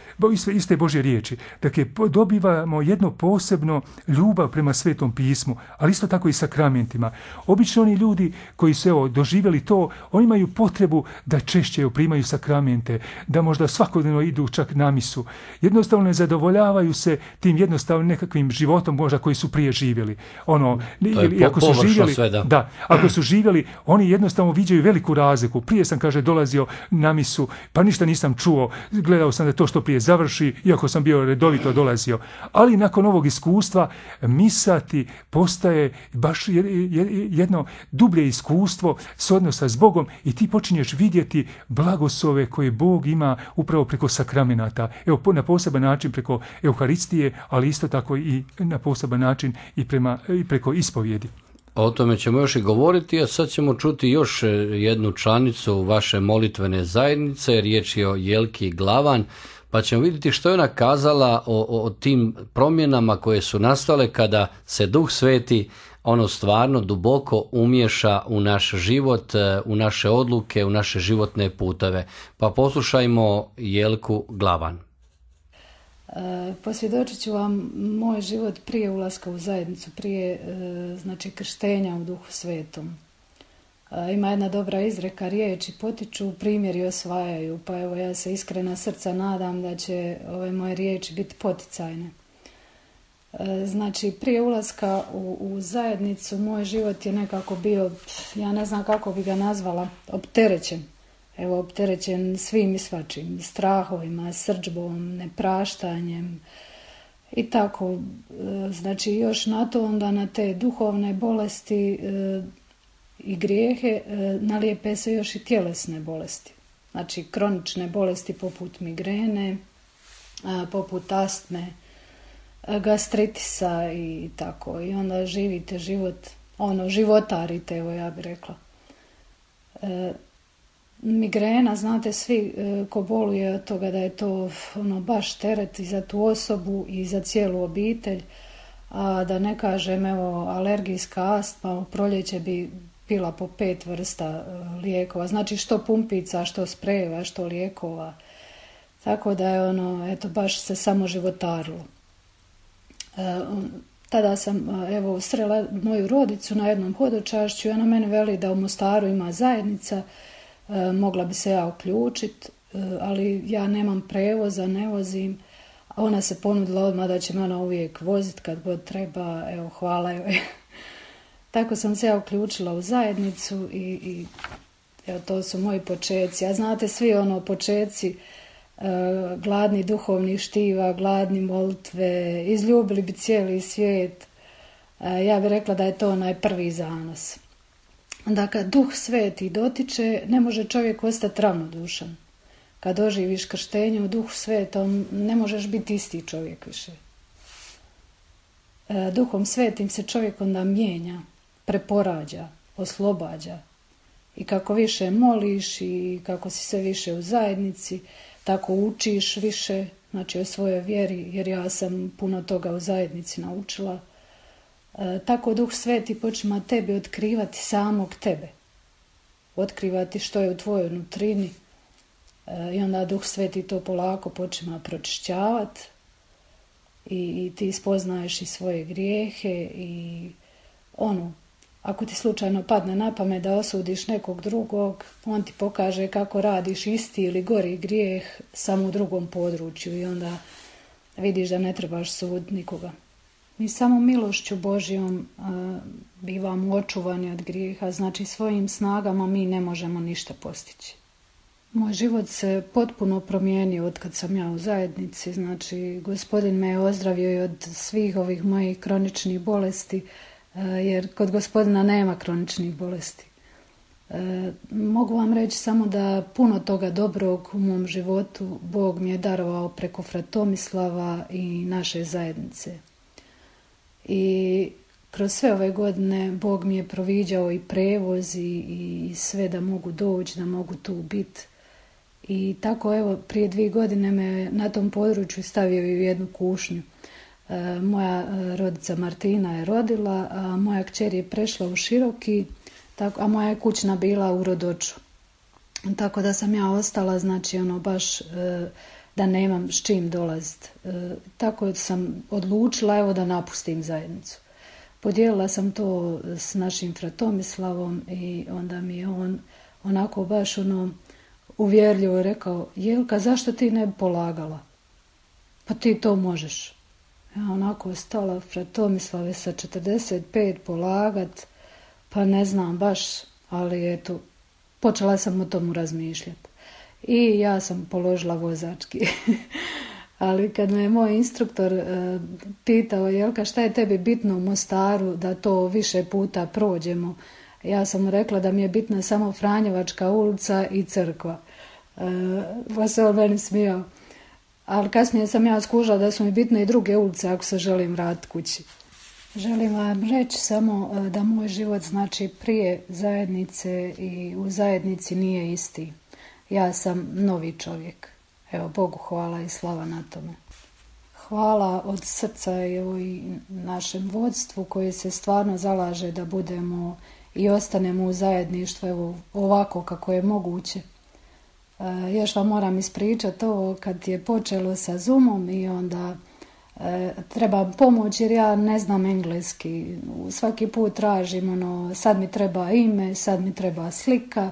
iste Božje riječi. Dakle, dobivamo jedno posebno ljubav prema Svetom pismu, ali isto tako i sakramentima. Obično oni ljudi koji su doživjeli to, oni imaju potrebu da češće primaju sakramente, da možda svakodnevno idu čak na misu. Jednostavno ne zadovoljavaju se tim jednostavnim nekakvim životom možda koji su prije živjeli. Ako su živjeli, oni jednostavno viđaju veliku razliku. Prije sam, dolazio na misu, pa ništa nisam čuo, gledao sam da to što prije završi, iako sam bio redovito dolazio. Ali nakon ovog iskustva misa ti postaje baš jedno dublje iskustvo s odnosa s Bogom i ti počinješ vidjeti blagoslove koje Bog ima upravo preko sakramenata. Na poseban način preko Euharistije, ali isto tako i na poseban način i preko ispovjedi. O tome ćemo još i govoriti, a sad ćemo čuti još jednu članicu vaše molitvene zajednice, riječ je o Jelki Glavan, pa ćemo vidjeti što je ona kazala o tim promjenama koje su nastale kada se Duh Sveti stvarno duboko umješa u naš život, u naše odluke, u naše životne puteve. Pa poslušajmo Jelku Glavan. Posvjedočit ću vam moj život prije ulaska u zajednicu, prije krštenja u Duhu Svetom. Ima jedna dobra izreka, riječi potiču, primjeri osvajaju, pa evo ja se iskrena srca nadam da će ove moje riječi biti poticajne. Prije ulaska u zajednicu moj život je nekako bio, ja ne znam kako bi ga nazvala, opterećen. Evo, opterećen svim i svačim, strahovima, srdžbom, nepraštanjem i tako. Još na to onda na te duhovne bolesti i grijehe nalijepe se još i tjelesne bolesti. Kronične bolesti poput migrene, poput astme, gastritisa i tako. I onda živite život, životarite, evo ja bih rekla. Migrena, znate svi ko boluje od toga da je to baš teret i za tu osobu i za cijelu obitelj, a da ne kažem alergijska astma, u proljeće bi pila po 5 vrsta lijekova, što pumpica, što sprejeva, što lijekova, tako da je baš se samo životarilo. Tada sam srela moju rodicu na jednom hodočašću i ona meni veli da u Mostaru ima zajednica, mogla bi se ja uključiti, ali ja nemam prevoza, ne vozim. Ona se ponudila odmah da će me ona uvijek voziti kad god treba, hvala joj. Tako sam se ja uključila u zajednicu i to su moji počeci. A znate svi počeci, gladni duhovnih štiva, gladni molitve, izljubili bi cijeli svijet. Ja bih rekla da je to onaj prvi zanos. Da kad Duh Sveti dotiče, ne može čovjek ostati ravnodušan. Kad doživiš krštenje u Duhu Svetom, ne možeš biti isti čovjek više. Duhom Svetim se čovjek onda mijenja, preporađa, oslobađa. I kako više moliš i kako si sve više u zajednici, tako učiš više, o svojoj vjeri, jer ja sam puno toga u zajednici naučila. Tako Duh Sveti počima tebi otkrivati samog tebe. Otkrivati što je u tvojoj nutrini. I onda Duh Sveti to polako počima pročišćavati. I ti spoznaješ i svoje grijehe i ako ti slučajno padne na pamet da osudiš nekog drugog, on ti pokaže kako radiš isti ili gori grijeh samo u drugom području i onda vidiš da ne trebaš suditi nikoga. Mi samo milošću Božjom bivamo očuvani od grijeha, svojim snagama mi ne možemo ništa postići. Moj život se potpuno promijenio od kad sam ja u zajednici, Gospodin me je ozdravio i od svih ovih mojih kroničnih bolesti, jer kod Gospodina nema kroničnih bolesti. Mogu vam reći samo da puno toga dobrog u mom životu Bog mi je darovao preko Fratomislava i naše zajednice. I kroz sve ove godine Bog mi je proviđao i prevoz i sve da mogu doći, da mogu tu biti. I tako prije 2 godine me na tom području stavio i u jednu kušnju. Moja rodica Martina je rodila, a moja kćer je prešla u Široki, a moja je kućna bila u Rodoču. Tako da sam ja ostala, baš da nemam s čim dolaziti. Tako sam odlučila da napustim zajednicu. Podijelila sam to s našim Fratomislavom i onda mi je on onako baš uvjerljivo rekao: Jelka, zašto ti ne bi polagala? Pa ti to možeš. Ja onako stala, Fratomislave sa 45 polagat, pa ne znam baš, ali počela sam o tomu razmišljati. I ja sam položila vozački. Ali kad me je moj instruktor pitao: Jelka, šta je tebi bitno u Mostaru da to više puta prođemo? Ja sam mu rekla da mi je bitna samo Franjevačka ulica i crkva. Pa se on meni smijao. Ali kasnije sam ja skužila da su mi bitne i druge ulice ako se želim vratiti kući. Želim vam reći samo da moj život znači prije zajednice i u zajednici nije isti. Ja sam novi čovjek. Evo, Bogu hvala i slava na tome. Hvala od srca i našem vodstvu koje se stvarno zalaže da budemo i ostanemo u zajedništvu evo, ovako kako je moguće. Još vam moram ispričati ovo kad je počelo sa Zoomom i onda treba pomoć jer ja ne znam engleski. Svaki put tražim sad mi treba ime, sad mi treba slika,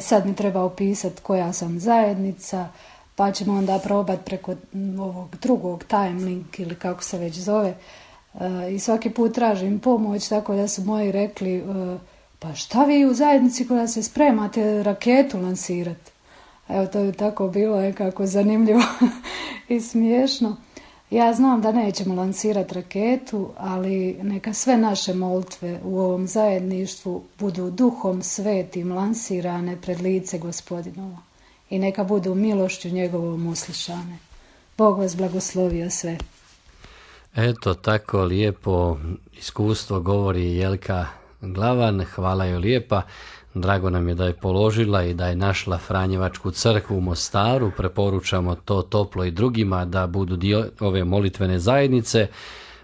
sad mi treba opisati koja sam zajednica, pa ćemo onda probati preko ovog drugog time link ili kako se već zove. I svaki put tražim pomoć, tako da su moji rekli pa šta vi u zajednici koja se spremate raketu lansirati? Evo, to je tako bilo nekako zanimljivo i smiješno. Ja znam da nećemo lansirati raketu, ali neka sve naše molitve u ovom zajedništvu budu Duhom Svetim lansirane pred lice Gospodinovo i neka budu milošću njegovom uslišane. Bog vas blagoslovio sve. Eto, tako lijepo iskustvo govori Jelka Glavan, hvala joj lijepa. Drago nam je da je položila i da je našla Franjevačku crkvu u Mostaru. Preporučamo to toplo i drugima da budu dio ove molitvene zajednice.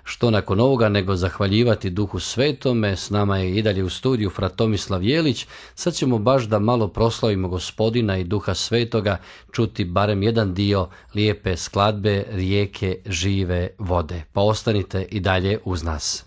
Što nakon ovoga nego zahvaljivati Duhu Svetome. S nama je i dalje u studiju fra Tomislav Jelić. Sad ćemo baš da malo proslavimo Gospodina i Duha Svetoga, čuti barem jedan dio lijepe skladbe Rijeke žive vode. Pa ostanite i dalje uz nas.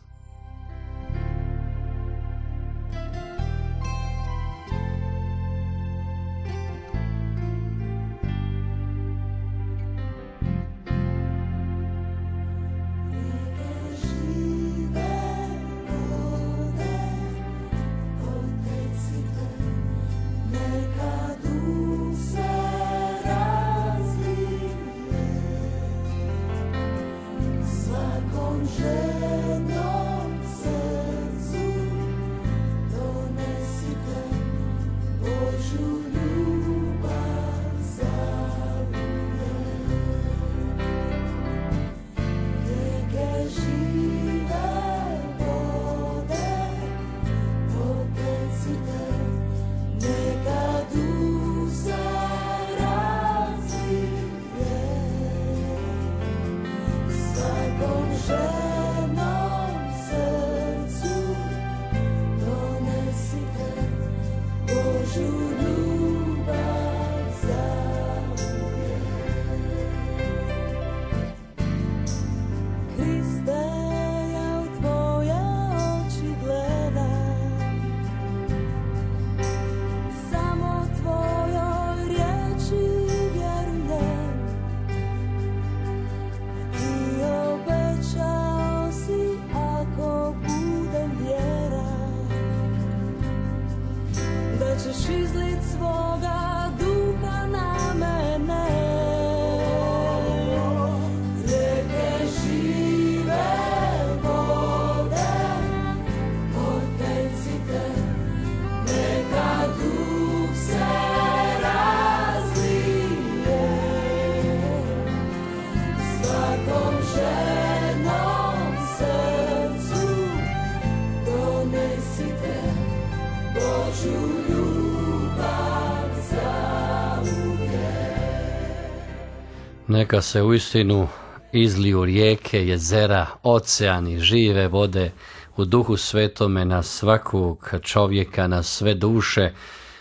Neka se uistinu izliju rijeke, jezera, oceani, žive vode u Duhu Svetome na svakog čovjeka, na sve duše,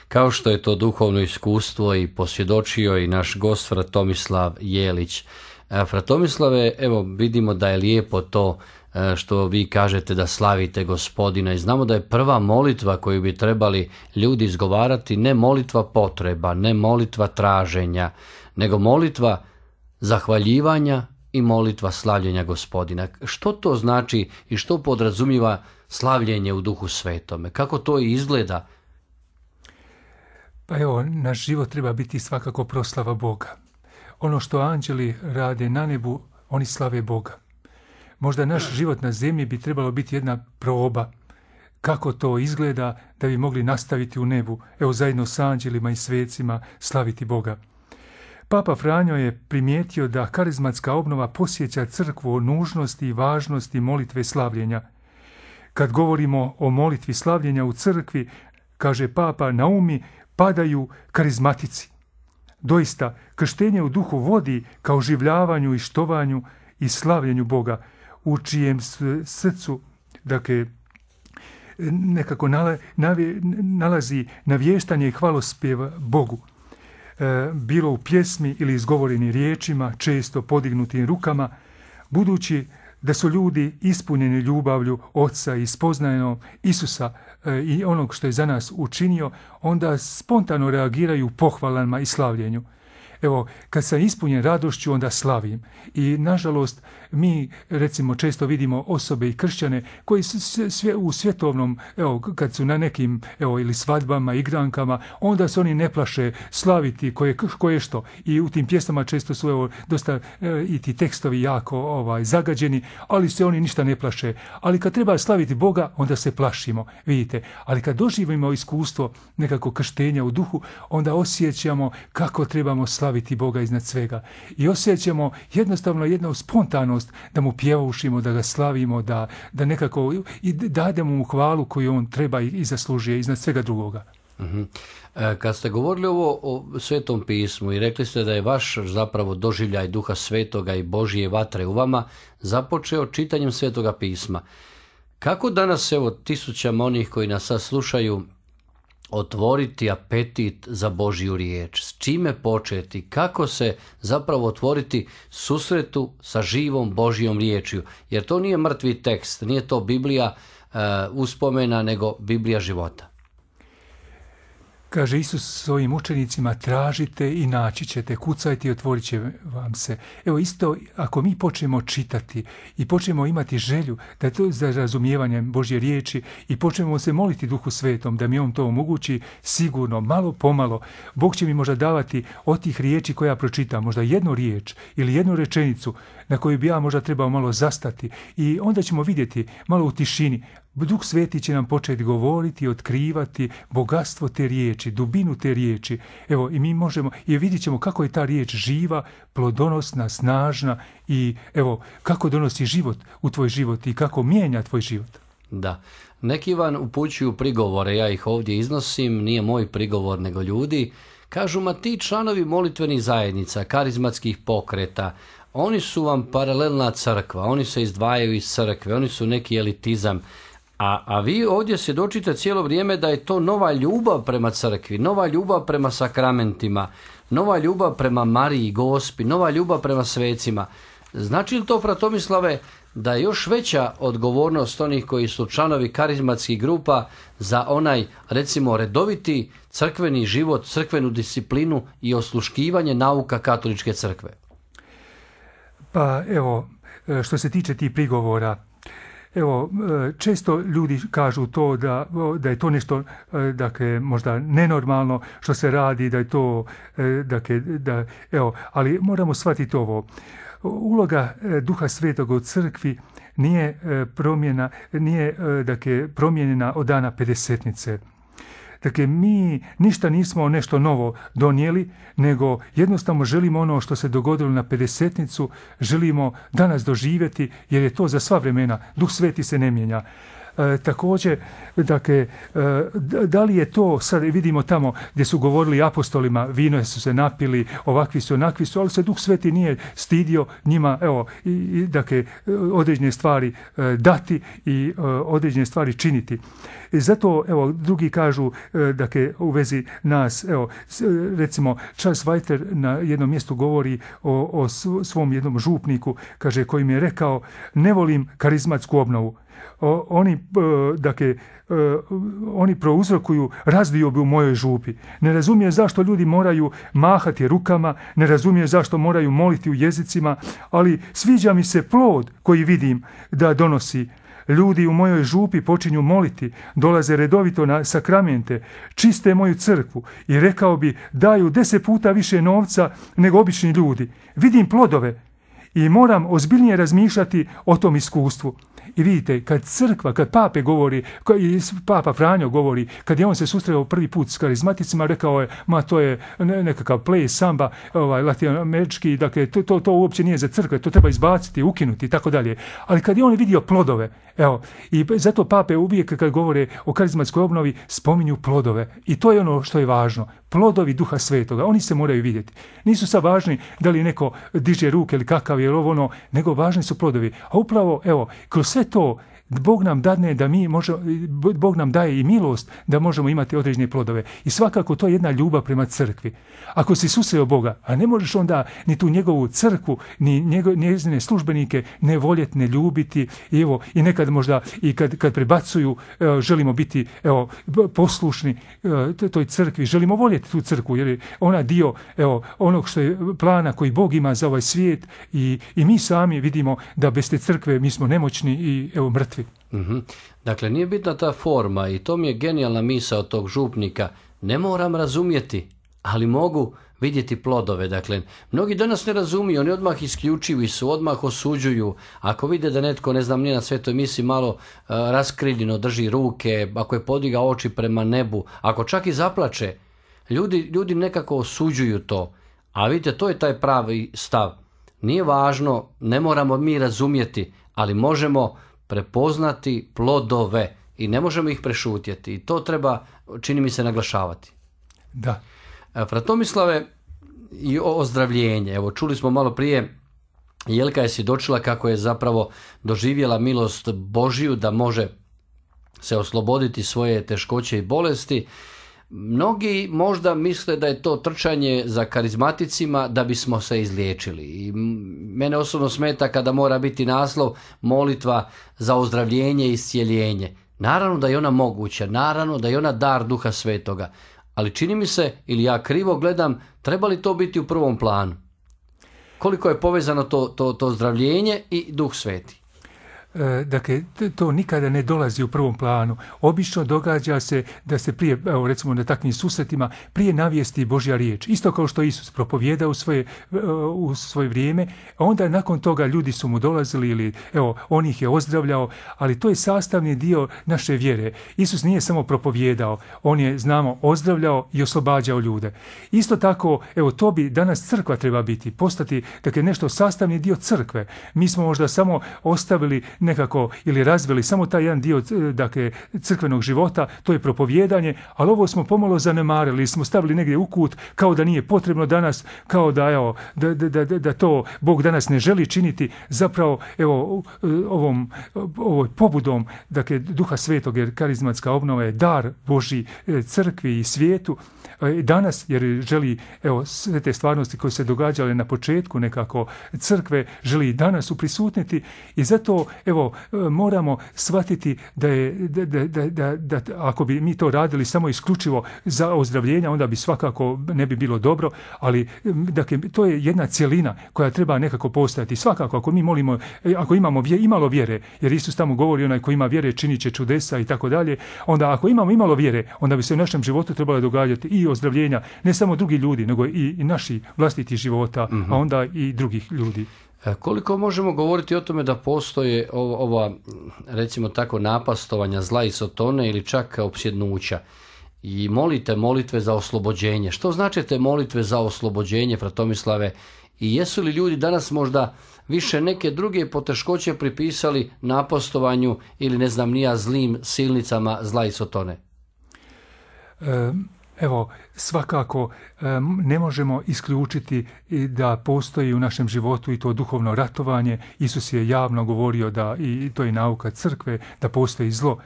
kao što je to duhovno iskustvo i posvjedočio i naš gost fra Tomislav Jelić. Fra Tomislave, evo vidimo da je lijepo to što vi kažete da slavite Gospodina i znamo da je prva molitva koju bi trebali ljudi izgovarati ne molitva potreba, ne molitva traženja, nego molitva zahvaljivanja i molitva slavljenja Gospodina. Što to znači i što podrazumijeva slavljenje u Duhu Svetome? Kako to izgleda? Pa evo, naš život treba biti svakako proslava Boga. Ono što anđeli rade na nebu, oni slave Boga. Možda naš život na zemlji bi trebalo biti jedna proba kako to izgleda da bi mogli nastaviti u nebu, evo zajedno s anđelima i svecima slaviti Boga. Papa Franjo je primijetio da karizmatska obnova posjeća crkvu o nužnosti i važnosti molitve slavljenja. Kad govorimo o molitvi slavljenja u crkvi, kaže Papa, na umi padaju karizmatici. Doista, krštenje u duhu vodi ka oživljavanju i štovanju i slavljenju Boga, u čijem srcu, dakle, nekako nalazi navještanje i hvalospjev Bogu. Bilo u pjesmi ili izgovorenim riječima, često podignutim rukama, budući da su ljudi ispunjeni ljubavlju Oca i spoznajom Isusa i onog što je za nas učinio, onda spontano reagiraju pohvalama i slavljenju. Evo, kad sam ispunjen radošću, onda slavim. I, nažalost, mi, recimo, često vidimo osobe i kršćane koji sve u svjetovnom, evo, kad su na nekim, evo, ili svadbama, igrankama, onda se oni ne plaše slaviti koje što. I u tim pjesmama često su, evo, dosta i ti tekstovi jako zagađeni, ali se oni ništa ne plaše. Ali kad treba slaviti Boga, onda se plašimo, vidite. Ali kad doživimo iskustvo nekako krštenja u duhu, onda osjećamo kako trebamo slaviti Boga iznad svega. I osjećamo jednostavno jednu spontanost da mu pjevaušimo, da ga slavimo, da nekako i dademo mu hvalu koju on treba i zaslužuje iznad svega drugoga. Kad ste govorili ovo o Svetom pismu i rekli ste da je vaš zapravo doživljaj Duha Svetoga i Božje vatre u vama započeo čitanjem Svetoga pisma, kako danas, evo, tisućama onih koji nas sad slušaju, otvoriti apetit za Božju riječ? S čime početi? Kako se zapravo otvoriti susretu sa živom Božjom riječju? Jer to nije mrtvi tekst, nije to Biblija uspomena, nego Biblija života. Kaže Isus svojim učenicima, tražite i naći ćete, kucajte i otvorit će vam se. Evo isto, ako mi počnemo čitati i počnemo imati želju da je to za razumijevanje Božje riječi i počnemo se moliti Duhu Svetom da mi on to omogući, sigurno, malo pomalo, Bog će mi možda davati od tih riječi koje ja pročitam, možda jednu riječ ili jednu rečenicu na koju bi ja možda trebao malo zastati i onda ćemo vidjeti malo u tišini. Duh Sveti će nam početi govoriti i otkrivati bogatstvo te riječi, dubinu te riječi. Evo, i mi možemo, i vidjet ćemo kako je ta riječ živa, plodonosna, snažna i evo, kako donosi život u tvoj život i kako mijenja tvoj život. Da. Neki vam upućuju prigovore, ja ih ovdje iznosim, nije moj prigovor nego ljudi. Kažu, ma ti članovi molitvenih zajednica, karizmatskih pokreta, oni su vam paralelna crkva, oni se izdvajaju iz crkve, oni su neki elitizam. A vi ovdje svjedočite cijelo vrijeme da je to nova ljubav prema crkvi, nova ljubav prema sakramentima, nova ljubav prema Mariji, Gospi, nova ljubav prema svecima. Znači li to, fra Tomislave, da je još veća odgovornost onih koji su članovi karizmatskih grupa za onaj, recimo, redoviti crkveni život, crkvenu disciplinu i osluškivanje nauka katoličke crkve? Pa evo, što se tiče tih prigovora, evo, često ljudi kažu to da je to nešto, dakle, možda nenormalno što se radi, da je to, dakle, evo, ali moramo shvatiti ovo. Uloga Duha Svetoga u crkvi nije promijenjena od dana Pedesetnice. Dakle, mi ništa nismo nešto novo donijeli, nego jednostavno želimo ono što se dogodilo na Pedesetnicu, želimo danas doživjeti, jer je to za sva vremena. Duh Sveti se ne mijenja. Također, dakle, da li je to, sad vidimo tamo gdje su govorili apostolima, vino su se napili, ovakvi su, onakvi su, ali se Duh Sveti nije stidio njima, evo, dakle, određene stvari dati i određene stvari činiti. I zato, evo, drugi kažu, dakle, u vezi nas, evo, recimo, Charles White na jednom mjestu govori o svom jednom župniku, kaže, koji mi je rekao, ne volim karizmatsku obnovu. Oni prouzrokuju razdiobu u mojoj župi. Ne razumije zašto ljudi moraju mahati rukama, ne razumije zašto moraju moliti u jezicima, ali sviđa mi se plod koji vidim da donosi. Ljudi u mojoj župi počinju moliti, dolaze redovito na sakramente, čiste moju crkvu i rekao bi daju 10 puta više novca nego obični ljudi. Vidim plodove i moram ozbiljnije razmišljati o tom iskustvu. I vidite, kad crkva, kad pape govori, papa Franjo govori, kad je on se susreo prvi put s karizmaticima, rekao je, to je nekakav play, samba, latinoamerički, dakle, to uopće nije za crkve, to treba izbaciti, ukinuti i tako dalje. Ali kad je on vidio plodove, evo, i zato pape uvijek kad govore o karizmatskoj obnovi spominju plodove. I to je ono što je važno. Plodovi Duha Svetoga, oni se moraju vidjeti. Nisu sad važni da li neko diže ruke ili kakav je ovo ono, nego važni su plodovi. A upravo, evo, kroz sve to Bog nam dadne da mi možemo, Bog nam daje i milost da možemo imati određene plodove. I svakako to je jedna ljubav prema crkvi. Ako si susreo Boga, a ne možeš onda ni tu njegovu crkvu, ni njezine službenike ne voljeti, ne ljubiti. I evo, i nekad možda i kad prebacuju, želimo biti poslušni toj crkvi, želimo voljeti tu crkvu, jer je ona dio onog što je plana koji Bog ima za ovaj svijet i mi sami vidimo da bez te crkve mi smo nemoćni i mrtvi. Mm-hmm. Dakle, nije bitna ta forma i to mi je genijalna misao tog župnika. Ne moram razumjeti, ali mogu vidjeti plodove. Dakle, mnogi danas ne razumiju, oni odmah isključivi su, odmah osuđuju. Ako vide da netko, ne znam, nije na svetoj misi malo raskriljeno drži ruke, ako je podigao oči prema nebu, ako čak i zaplače, ljudi nekako osuđuju to. A vidite, to je taj pravi stav. Nije važno, ne moramo mi razumjeti, ali možemo prepoznati plodove i ne možemo ih prešutjeti. I to treba, čini mi se, naglašavati. Da. Fratomislave, i ozdravljenje. Evo, čuli smo malo prije, Jelka je svjedočila kako je zapravo doživjela milost Božiju da može se osloboditi svoje teškoće i bolesti. Mnogi možda misle da je to trčanje za karizmaticima da bismo se izliječili. I mene osobno smeta kada mora biti naslov molitva za ozdravljenje i iscijeljenje. Naravno da je ona moguća, naravno da je ona dar Duha Svetoga. Ali čini mi se, ili ja krivo gledam, treba li to biti u prvom planu? Koliko je povezano to ozdravljenje i Duh Sveti? Dakle, to nikada ne dolazi u prvom planu. Obično događa se da se prije, recimo na takvim susretima, prije navijesti Božja riječ. Isto kao što Isus propovijedao u svoje vrijeme, a onda nakon toga ljudi su mu dolazili ili on ih je ozdravljao, ali to je sastavni dio naše vjere. Isus nije samo propovijedao, on je, znamo, ozdravljao i oslobađao ljude. Isto tako, to bi danas crkva treba biti, postati, dakle, nešto sastavni dio crkve. Mi smo možda samo ostavili nekako ili razvili samo taj jedan dio, dakle, crkvenog života, to je propovijedanje, ali ovo smo pomalo zanemarili, smo stavili negdje u kut, kao da nije potrebno danas, kao da da to Bog danas ne želi činiti. Zapravo, ovoj pobudom, dakle, Duha Svetog, jer karizmatska obnova je dar Božji crkvi i svijetu danas, jer želi, sve te stvarnosti koje se događale na početku nekako crkve, želi danas uprisutniti i zato moramo shvatiti da je da ako bi mi to radili samo isključivo za ozdravljenja, onda bi svakako ne bi bilo dobro, ali dakle, to je jedna cjelina koja treba nekako postojati. Svakako ako mi molimo, ako imamo imalo vjere, jer Isus tamo govori onaj ko ima vjere činit će čudesa i tako dalje, onda ako imamo imalo vjere, onda bi se u našem životu trebalo događati i ozdravljenja, ne samo drugi ljudi, nego i naši vlastiti života, a onda i drugih ljudi. Koliko možemo govoriti o tome da postoje ova, recimo tako, napastovanja zla i sotone ili čak opsjednuća i molite molitve za oslobođenje? Što znači te molitve za oslobođenje, Fratomislave? I jesu li ljudi danas možda više neke druge poteškoće pripisali napastovanju ili ne znam nija zlim silnicama zla i sotone? Svakako ne možemo isključiti da postoji u našem životu i to duhovno ratovanje. Isus je javno govorio da, i to je nauka crkve, da postoji zlo.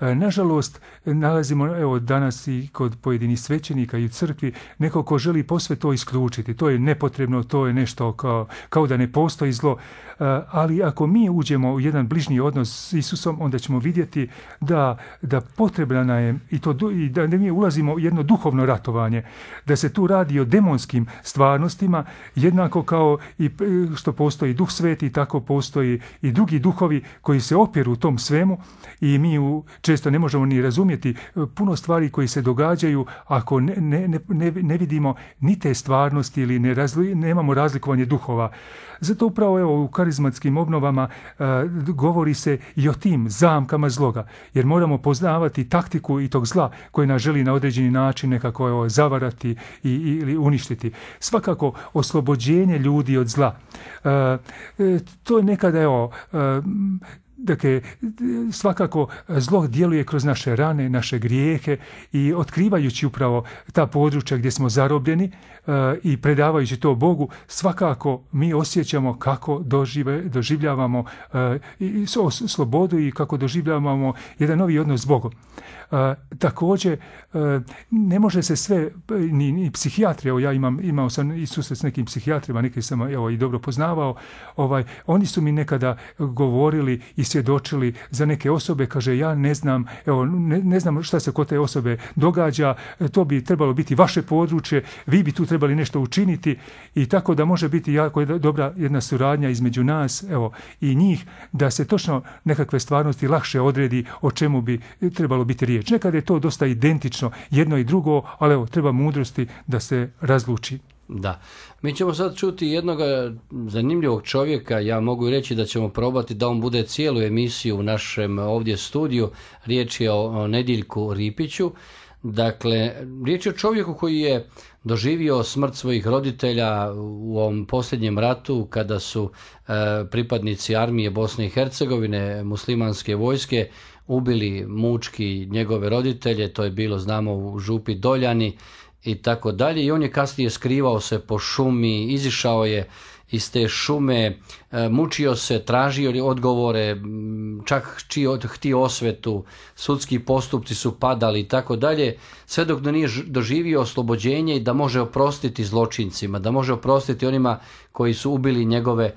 Nažalost, nalazimo danas i kod pojedinih svećenika i u crkvi neko ko želi posve to isključiti. To je nepotrebno, to je nešto kao da ne postoji zlo. Ali ako mi uđemo u jedan bližnji odnos s Isusom, onda ćemo vidjeti da potrebna nam je i da mi ulazimo u jedno duhovno ratovanje, da se tu radi o demonskim stvarnostima, jednako kao i što postoji Duh Sveti, tako postoji i drugi duhovi koji se opjeru u tom svemu i mi često ne možemo ni razumjeti puno stvari koji se događaju ako ne vidimo ni te stvarnosti ili nemamo razlikovanje duhova. Zato upravo evo, u karizmatskim obnovama govori se i o tim zamkama zloga, jer moramo poznavati taktiku i tog zla koji nas želi na određeni način nekako zavarati ili uništiti. Svakako oslobođenje ljudi od zla. To je nekada dakle, svakako zlo djeluje kroz naše rane, naše grijehe i otkrivajući upravo ta područja gdje smo zarobljeni i predavajući to Bogu, svakako mi osjećamo kako doživljavamo slobodu i kako doživljavamo jedan novi odnos s Bogom. Također, ne može se sve, ni psihijatri, evo ja imao sam i susret s nekim psihijatrima, neke sam i dobro poznavao, oni su mi nekada govorili i svjedočili za neke osobe, kaže ja ne znam, ne znam šta se kod te osobe događa, to bi trebalo biti vaše područje, vi bi tu trebali nešto učiniti i tako da može biti jako dobra jedna suradnja između nas i njih, da se točno nekakve stvarnosti lakše odredi o čemu bi trebalo biti riječ. Nekada je to dosta identično, jedno i drugo, ali treba mudrosti da se razluči. Da. Mi ćemo sad čuti jednog zanimljivog čovjeka, ja mogu reći da ćemo probati da on bude cijelu emisiju u našem ovdje studiju. Riječ je o Nediljku Ripiću. Dakle, riječ je o čovjeku koji je doživio smrt svojih roditelja u ovom posljednjem ratu kada su pripadnici armije Bosne i Hercegovine, muslimanske vojske, ubili mučki njegove roditelje, to je bilo, znamo, u Župi Doljani i tako dalje. I on je kasnije skrivao se po šumi, izišao je iz te šume, mučio se, tražio odgovore, čak htio osvetu, sudski postupci su padali i tako dalje, sve dok nije doživio oslobođenje i da može oprostiti zločincima, da može oprostiti onima koji su ubili njegove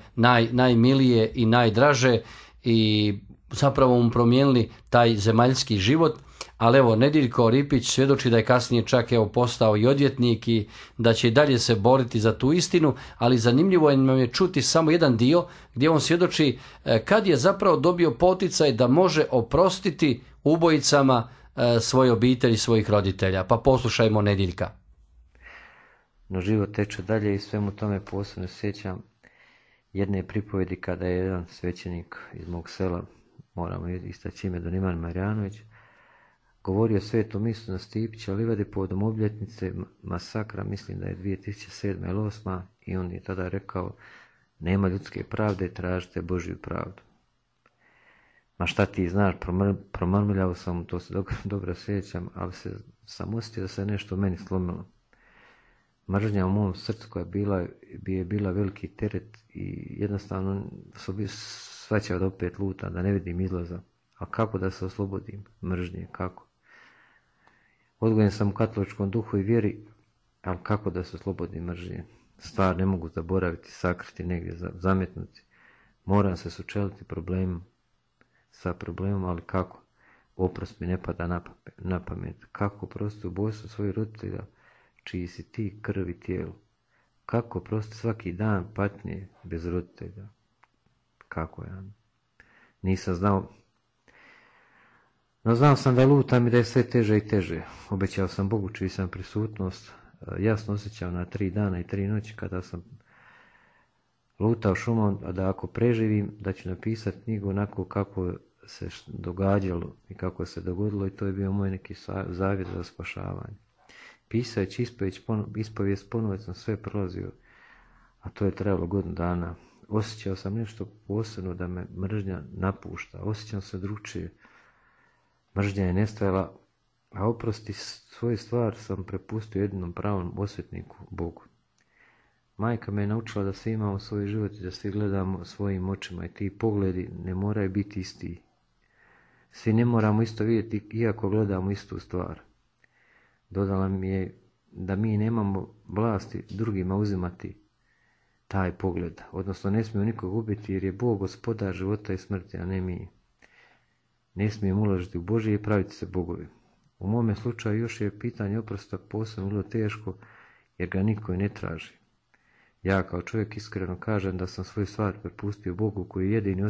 najmilije i najdraže i zapravo mu promijenili taj zemaljski život. Ali evo, Nediljko Ripić svjedoči da je kasnije čak postao i odvjetnik i da će i dalje se boriti za tu istinu, ali zanimljivo je čuti samo jedan dio gdje on svjedoči kad je zapravo dobio poticaj da može oprostiti ubojicama svoje obitelji, svojih roditelja. Pa poslušajmo Nediljka. No život teče dalje i svemu tome posebno sjećam jedne pripovjedi kada je jedan svećenik iz mog sela, moramo istaći ime, Don Ivan Marjanović, govorio o svetom misu na Stipića livadi povodom obljetnice masakra, mislim da je 2007. ili 2008. I on je tada rekao, nema ljudske pravde, tražite Božju pravdu. Ma šta ti znaš, promrmljao sam, to se dobro sjećam, ali sam osjetio da se nešto u meni slomilo. Mržnja u mom srcu koja je bila veliki teret i jednostavno svaćao da opet luta, da ne vidim izlaza. A kako da se oslobodim mržnje, kako? Odgojen sam u katoličkom duhu i vjeri, ali kako da se oslobodim mržnje? Stvar ne mogu zaboraviti, sakriti negdje, zametnuti. Moram se sučeliti sa problemom, ali kako? Oprost mi ne pada na pamet. Kako oprostiti ubojstvo svojih roditelja, čiji si ti krv i tijelo? Kako oprostiti svaki dan patnje bez roditelja? Kako ja? Nisam znao. No znao sam da lutam i da je sve teže i teže. Obećao sam Bogu čiji sam prisutnost jasno osjećao na 3 dana i 3 noći kada sam lutao šumom, a da ako preživim da ću napisati knjigu onako kako se događalo i kako se dogodilo, i to je bio moj neki zavjet za spašavanje. Pisajući ispovijest ponovo sam sve prolazio, a to je trebalo godinu dana. Osjećao sam nešto posebno da me mržnja napušta, osjećam se drugčije. Mržnja je nestajala, a oprosti svoju stvar sam prepustio jedinom pravom osvetniku, Bogu. Majka me je naučila da svi imamo svoj život i da svi gledamo svojim očima i ti pogledi ne moraju biti isti. Svi ne moramo isto vidjeti iako gledamo istu stvar. Dodala mi je da mi nemamo vlasti drugima uzimati taj pogled, odnosno ne smijemo nikog ubiti jer je Bog gospodar života i smrti, a ne mi. Ne smijemo ulaziti u Božje i praviti se bogovi. U mome slučaju još je pitanje oprosta posebno vrlo teško jer ga niko i ne traži. Ja kao čovjek iskreno kažem da sam svoju stvar prepustio Bogu koji je jedini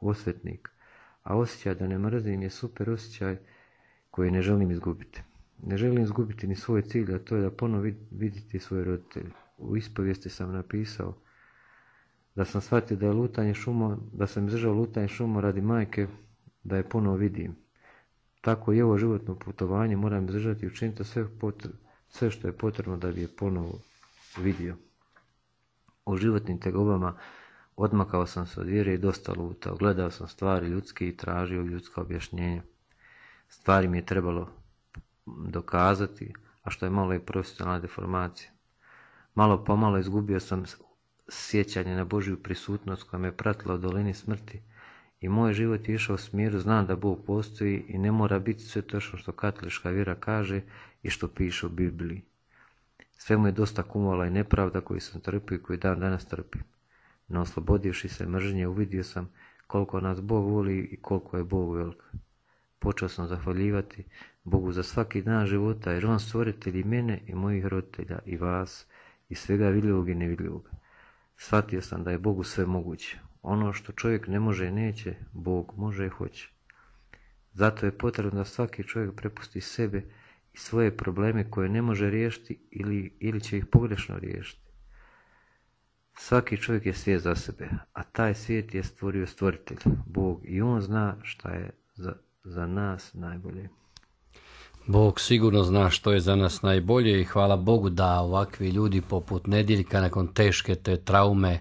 osvetnik, a osjećaj da ne mrzim je super osjećaj koji ne želim izgubiti. Ne želim izgubiti ni svoj cilj, a to je da ponovo vidjeti svoje roditelje. U ispovijesti sam napisao da sam shvatio da je lutanje šumom, da sam izdržao lutanje šumom radi majke, da je ponovo vidim. Tako i ovo životno putovanje moram izdržati i učiniti sve što je potrebno da bi je ponovo vidio. U životnim tegobama odmakao sam se od vjere i dosta lutao. Gledao sam stvari ljudske i tražio ljudska objašnjenja. Stvari mi je trebalo dokazati, a što je malo i profesionalna deformacija. Malo po malo izgubio sam sjećanje na Božju prisutnost koja me pratila u dolini smrti i moj život je išao u smjeru, znam da Bog postoji i ne mora biti sve točno što katolička vjera kaže i što piše u Bibliji. Sve mu je dosta kumovala i nepravda koju sam trpio i koju dan danas trpim. No oslobodivši se mržnje uvidio sam koliko nas Bog voli i koliko je Bog velik. Počeo sam zahvaljivati Bogu za svaki dan života jer on stvoritelj i mene i mojih roditelja i vas i svega vidljivog i nevidljivog. Shvatio sam da je Bogu sve moguće. Ono što čovjek ne može i neće, Bog može i hoće. Zato je potrebno da svaki čovjek prepusti sebe i svoje probleme koje ne može riješiti ili će ih pogrešno riješiti. Svaki čovjek je svijet za sebe, a taj svijet je stvorio stvoritelj, Bog, i on zna šta je za nas najbolje. Bog sigurno zna što je za nas najbolje i hvala Bogu da ovakvi ljudi poput Nedjeljka nakon teške te traume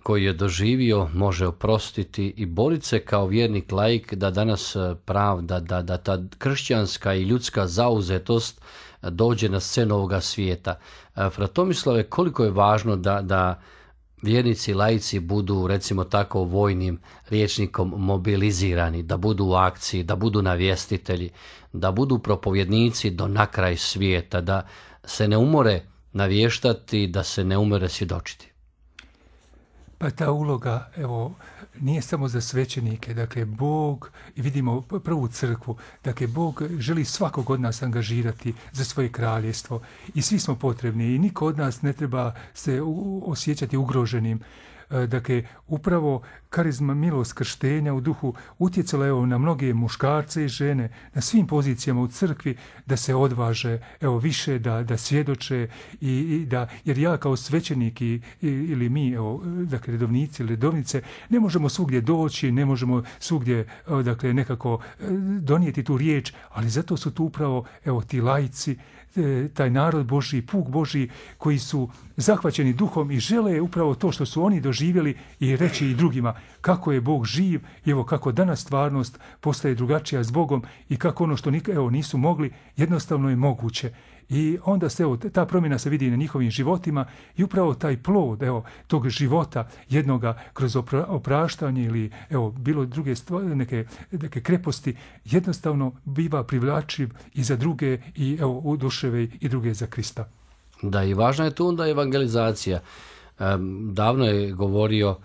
koji je doživio može oprostiti i boriti se kao vjernik laik da danas pravda, da ta kršćanska i ljudska zauzetost dođe na scenu ovoga svijeta. Fratomislave, koliko je važno da vjernici laici budu, recimo tako vojnim rječnikom, mobilizirani, da budu u akciji, da budu navjestitelji, da budu propovjednici do na kraj svijeta, da se ne umore navještati, da se ne umore svjedočiti. Pa ta uloga, evo, nije samo za svećenike. Dakle, Bog, i vidimo prvu crkvu, dakle, Bog želi svakog od nas angažirati za svoje kraljevstvo. I svi smo potrebni i niko od nas ne treba se osjećati ugroženim. Dakle, upravo karizma milost krštenja u duhu utjecala je na mnoge muškarce i žene na svim pozicijama u crkvi da se odvaže, više da svjedoče i da, jer ja kao svećenik ili mi, dakle, redovnici ili redovnice, ne možemo svugdje doći, ne možemo svugdje, dakle, nekako donijeti tu riječ, ali zato su tu upravo, ti laici, taj narod Božji, puk Božji, koji su zahvaćeni duhom i žele upravo to što su oni doživjeli i reći i drugima kako je Bog živ i kako danas stvarnost postaje drugačija s Bogom i kako ono što nisu mogli jednostavno je moguće. I onda se ta promjena se vidi na njihovim životima i upravo taj plod tog života jednoga kroz opraštanje ili bilo druge stvari, neke kreposti jednostavno biva privlačiv i za druge i oduševe i druge za Krista. Da, i važna je tu onda evangelizacija. Davno je govorio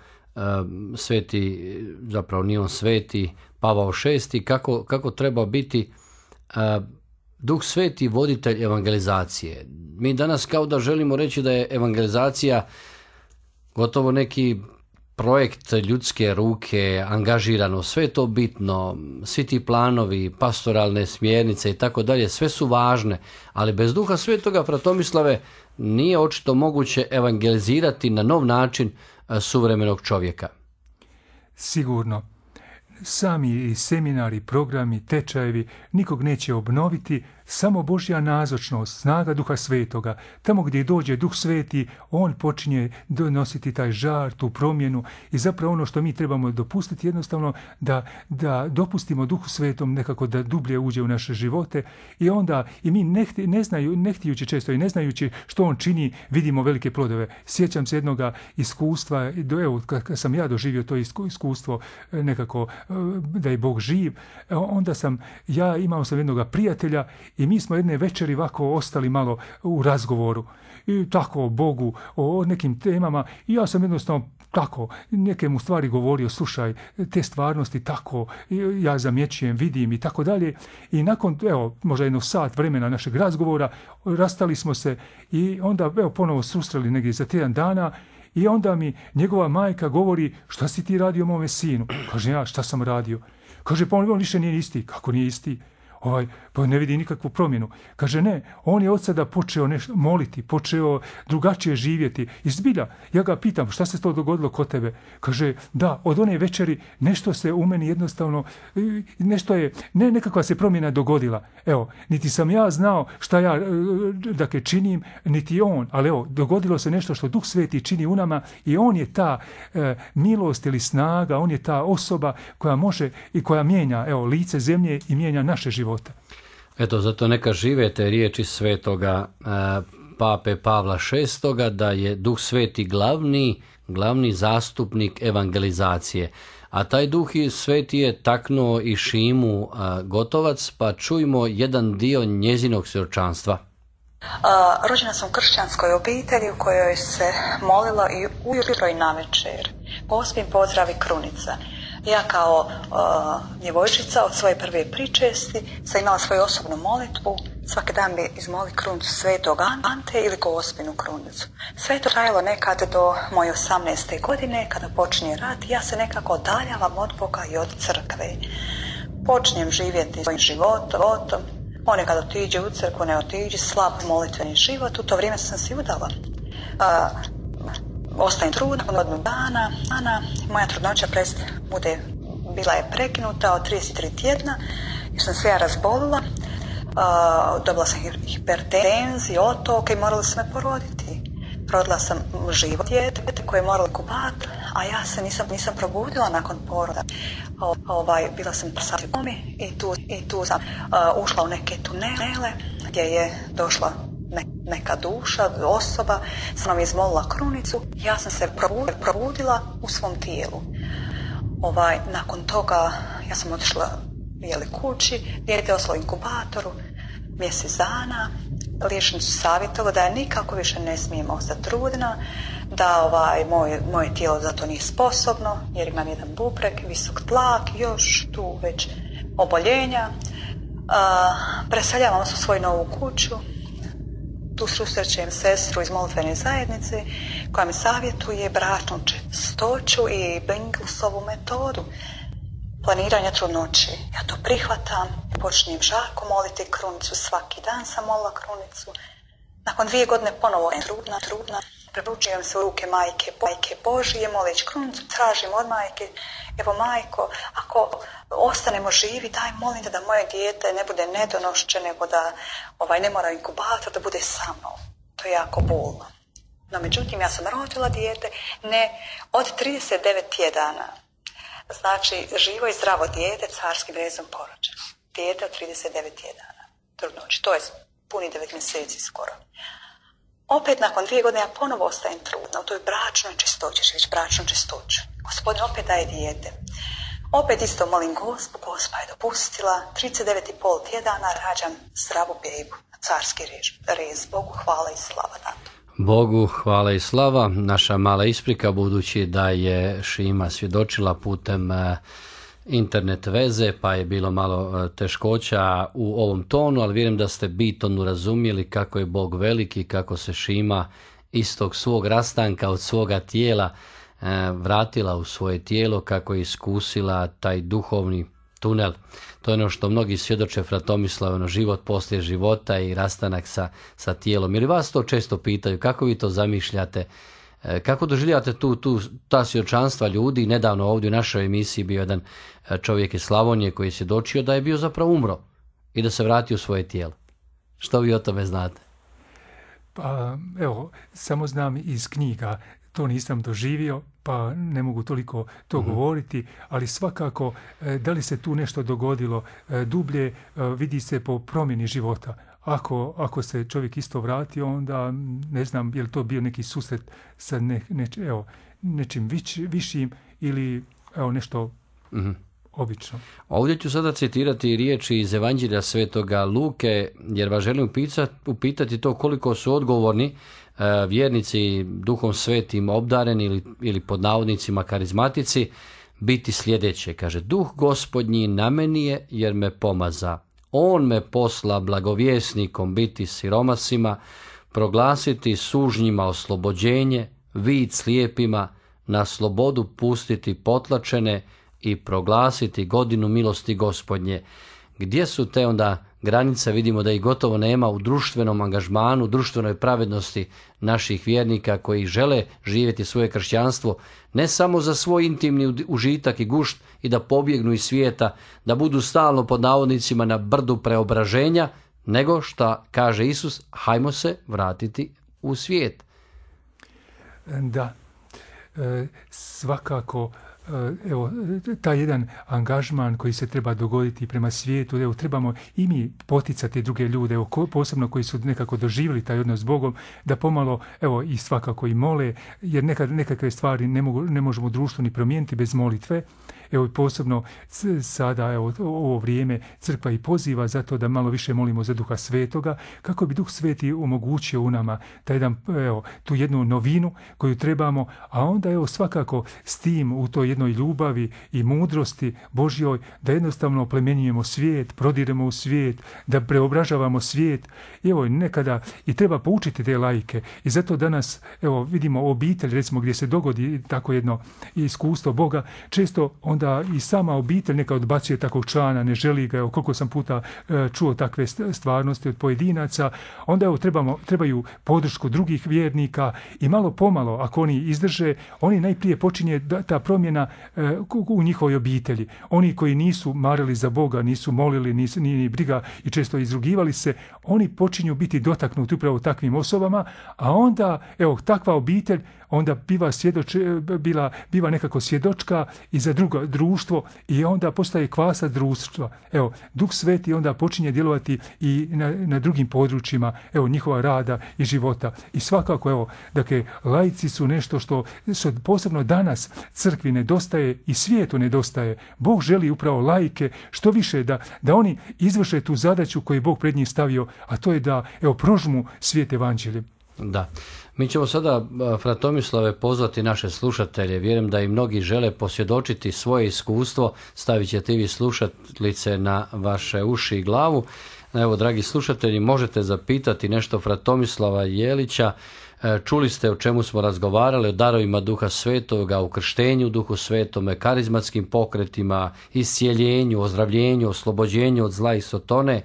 sveti, zapravo nije on sveti, Pavao VI, kako treba biti Duh Sveti voditelj evangelizacije. Mi danas kao da želimo reći da je evangelizacija gotovo neki projekt ljudske ruke, angažirano, sve je to bitno, svi ti planovi, pastoralne smjernice i tako dalje, sve su važne, ali bez Duha Svetoga, Fratomislave, nije očito moguće evangelizirati na nov način suvremenog čovjeka. Sigurno. Sami seminari, programi, tečajevi nikog neće obnoviti, samo Božja nazočnost, snaga Duha Svetoga. Tamo gdje dođe Duh Sveti, on počinje donositi taj žar, tu promjenu i zapravo ono što mi trebamo dopustiti jednostavno da dopustimo Duhu Svetom nekako da dublje uđe u naše živote i onda i mi ne htijući često i ne znajući što on čini, vidimo velike plodove. Sjećam se jednog iskustva, kad sam ja doživio to iskustvo nekako da je Bog živ, onda imao sam jednog prijatelja i mi smo jedne večeri ovako ostali malo u razgovoru i tako o Bogu, o nekim temama i ja sam jednostavno tako neke mu stvari govorio, slušaj, te stvarnosti tako, ja zamjećujem, vidim i tako dalje i nakon, možda jedno sat vremena našeg razgovora, rastali smo se i onda, ponovo susreli negdje za 3 dana i onda mi njegova majka govori, šta si ti radio mome sinu? Kaže, ja, šta sam radio? Kaže, pa on više nije isti. Kako nije isti? Pa ne vidi nikakvu promjenu. Kaže, ne, on je od sada počeo nešto moliti, počeo drugačije živjeti. I zbilja, ja ga pitam, šta se to dogodilo kod tebe? Kaže, da, od one večeri nešto se u meni jednostavno, nešto je, ne nekakva se promjena dogodila. Evo, niti sam ja znao šta ja dakle činim, niti on, ali evo, dogodilo se nešto što Duh Sveti čini u nama i on je ta milost ili snaga, on je ta osoba koja može i koja mijenja, evo, lice zemlje i mijenja naše živote. Eto, zato neka žive te riječi svetoga Pape Pavla VI, da je Duh Sveti glavni zastupnik evangelizacije. A taj Duh Sveti je taknuo i Šimu Gotovac, pa čujmo jedan dio njezinog svjedočanstva. Rođena sam u kršćanskoj obitelji u kojoj se molilo i ujutro i navečer. Gospin pozdrav i krunica. Ja kao djevojčica od svoje prve pričesti sam imala svoju osobnu molitvu. Svaki dan bi izmoli krunicu svetog Ante ili Gospinu krunicu. Sve to trajalo nekad do moje 18. godine kada počinje rat. Ja se nekako odaljavam od Boga i od crkve. Počinjem živjeti svojim životom. Ponekad otiđe u crkvu, ne otiđe, slab molitveni život. U to vrijeme sam si udala. Ostajem trudna od godinu dana. Moja trudnoća bila je prekinuta od 33 tjedna jer sam se ja razbolila. Dobila sam hipertenziju, otoke i morala sam me poroditi. Rodila sam živo dijete koje je moralo inkubator, a ja se nisam probudila nakon poroda. Bila sam u komi i tu sam ušla u neke tunele gdje je došla neka duša, osoba, sam nam izmolila krunicu. Ja sam se probudila u svom tijelu. Nakon toga ja sam otišla kući, dijete je ostalo u inkubatoru mjesec dana. Liječnici su savjetovali da ja nikako više ne smijem ostati trudna, da moje tijelo za to nije sposobno jer imam jedan bubreg, visok tlak, još tu već oboljenja. Preseljavam se u svoju novu kuću. Tu susrećem sestru iz molitvene zajednice koja mi savjetuje bračnu čistoću i Benglusovu metodu planiranja trudnoće. Ja to prihvatam, počinjem žarko moliti krunicu, svaki dan sam molila krunicu. Nakon 2 godine ponovo je trudna, prepućujem se u ruke majke Božije, molić krunicu, tražim od majke, evo majko, ako ostanemo živi, daj molim te da moje dijete ne bude nedonošće, nego da ne mora inkubator, da bude sa mnom. To je jako bolno. No međutim, ja sam rodila dijete od 39 tjedana. Znači, živo i zdravo dijete carskim rezom porođeno. Dijete od 39 tjedana trudnoći. To je puni 9 mjeseci skoro. Opet nakon 2 godine ja ponovo ostajem trudna. U toj bračnoj čistoći, već bračnu čistoću. Gospodin opet daje dijete. Opet isto molim Gospa je dopustila. 39,5 tjedana rađam zdravu bebu. Carski rez. Bogu hvala i slava na to. Bogu hvala i slava. Naša mala isprika, budući da je Šima svjedočila putem internet veze, pa je bilo malo teškoća u ovom tonu, ali vjerujem da ste bitno razumjeli kako je Bog veliki, kako se Šima iz tog svog rastanka od svoga tijela vratila u svoje tijelo, kako je iskusila taj duhovni tunel. To je ono što mnogi svjedoče, fra Tomislava, život poslije života i rastanak sa tijelom. Ili vas to često pitaju, kako vi to zamišljate, kako doživljate ta svjedočanstva ljudi? Nedavno ovdje u našoj emisiji bio jedan čovjek iz Slavonije koji je svjedočio da je bio zapravo umro i da se vratio u svoje tijelo. Što vi o tome znate? Pa evo, samo znam iz knjiga, to nisam doživio, pa ne mogu toliko to govoriti, ali svakako da li se tu nešto dogodilo dublje, vidi se po promjeni života. Ako se čovjek isto vratio, onda ne znam je li to bio neki susret sa nečim višim ili nešto obično. Ovdje ću sada citirati riječi iz Evanđelja svetoga Luke, jer vas želim upitati to koliko su odgovorni vjernici Duhom Svetim obdareni ili pod navodnicima karizmatici biti sljedeće. Kaže, Duh Gospodnji na meni je jer me pomaza. On me posla blagovjesnikom biti siromasima, proglasiti sužnjima oslobođenje, vid slijepima, na slobodu pustiti potlačene, i proglasiti godinu milosti Gospodnje. Gdje su te onda granice? Vidimo da ih gotovo nema u društvenom angažmanu, društvenoj pravednosti naših vjernika koji žele živjeti svoje kršćanstvo ne samo za svoj intimni užitak i gušt i da pobjegnu iz svijeta, da budu stalno pod navodnicima na brdu preobraženja, nego šta kaže Isus, hajmo se vratiti u svijet. Da, svakako, evo, taj jedan angažman koji se treba dogoditi prema svijetu, evo, trebamo i mi poticati druge ljude, evo, posebno koji su nekako doživjeli taj odnos s Bogom, da pomalo, evo, i svakako i mole, jer nekakve stvari ne možemo u društvu ni promijeniti bez molitve. Evo, posebno sada, evo, ovo vrijeme crkva i poziva zato da malo više molimo za Duha Svetoga, kako bi Duh Sveti omogućio u nama taj jedan, evo, tu jednu novinu koju trebamo, a onda, evo, svakako s tim u toj jednoj ljubavi i mudrosti Božjoj, da jednostavno oplemenjujemo svijet, prodiremo u svijet, da preobražavamo svijet. Evo, nekada i treba poučiti te laike i zato danas, evo, vidimo obitelj, recimo, gdje se dogodi tako jedno iskustvo Boga, često onda i sama obitelj neka odbacuje takvog člana, ne želi ga, evo, koliko sam puta čuo takve stvarnosti od pojedinaca, onda, evo, trebaju podršku drugih vjernika i malo pomalo, ako oni izdrže, oni najprije počinje ta promjena u njihovoj obitelji. Oni koji nisu marili za Boga, nisu molili, ni briga i često izrugivali se, oni počinju biti dotaknuti upravo takvim osobama, a onda, evo, takva obitelj onda biva nekako svjedočka i za drugo društvo i onda postaje kvasa društva. Evo, Duh Sveti onda počinje djelovati i na drugim područjima, evo, njihova rada i života. I svakako, evo, dakle, laici su nešto što posebno danas crkvi nedostaje i svijetu nedostaje. Bog želi upravo laike što više da oni izvrše tu zadaću koju je Bog pred njih stavio, a to je da, evo, prožmu svijet evanđeljem. Da. Mi ćemo sada, fra Tomislave, pozvati naše slušatelje. Vjerujem da i mnogi žele posvjedočiti svoje iskustvo. Stavit ćete i vi slušalice na vaše uši i glavu. Evo, dragi slušatelji, možete zapitati nešto fra Tomislava Jelića. Čuli ste o čemu smo razgovarali, o darovima Duha Svetoga, o krštenju Duhu Svetome, karizmatskim pokretima, iscijeljenju, ozdravljenju, oslobođenju od zla i sotone.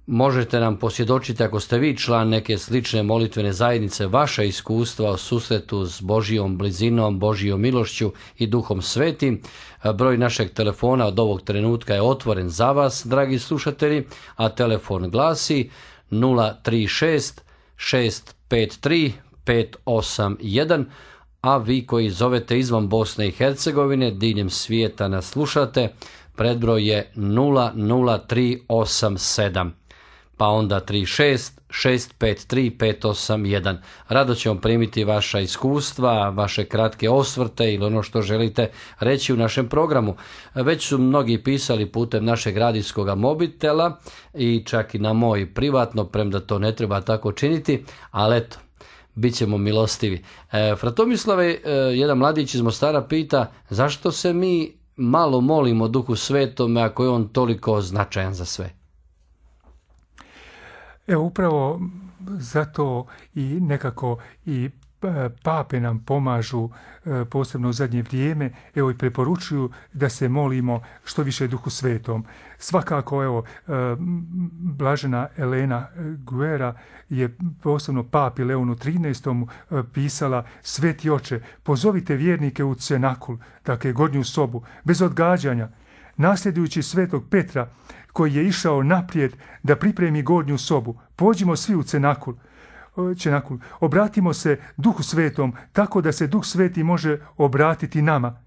Možete nam posvjedočiti, ako ste vi član neke slične molitvene zajednice, vaša iskustva o susretu s Božjom blizinom, Božjom milošću i Duhom Svetim. Broj našeg telefona od ovog trenutka je otvoren za vas, dragi slušatelji, a telefon glasi 036 653 581, a vi koji zovete izvan Bosne i Hercegovine, diljem svijeta nas slušate, predbroj je 00387, pa onda 36 653 581. Rado ćemo primiti vaša iskustva, vaše kratke osvrte ili ono što želite reći u našem programu. Već su mnogi pisali putem našeg radijskog mobitela i čak i na moj privatno, premda to ne treba tako činiti, ali eto, bit ćemo milostivi. Fra Tomislave, jedan mladić iz Mostara pita, zašto se mi malo molimo Duhu Svetome ako je on toliko značajan za sve? Evo, upravo zato i nekako i pape nam pomažu, posebno u zadnje vrijeme, evo, i preporučuju da se molimo što više Duhu Svetom. Svakako, evo, blažena Elena Guerra je posebno papi Leonu XIII pisala: Sveti oče, pozovite vjernike u cenakul, dakle gornju sobu, bez odgađanja, nasljedujući svetog Petra koji je išao naprijed da pripremi gornju sobu. Pođimo svi u cenakul. Obratimo se Duhu Svetom tako da se Duh Sveti može obratiti nama.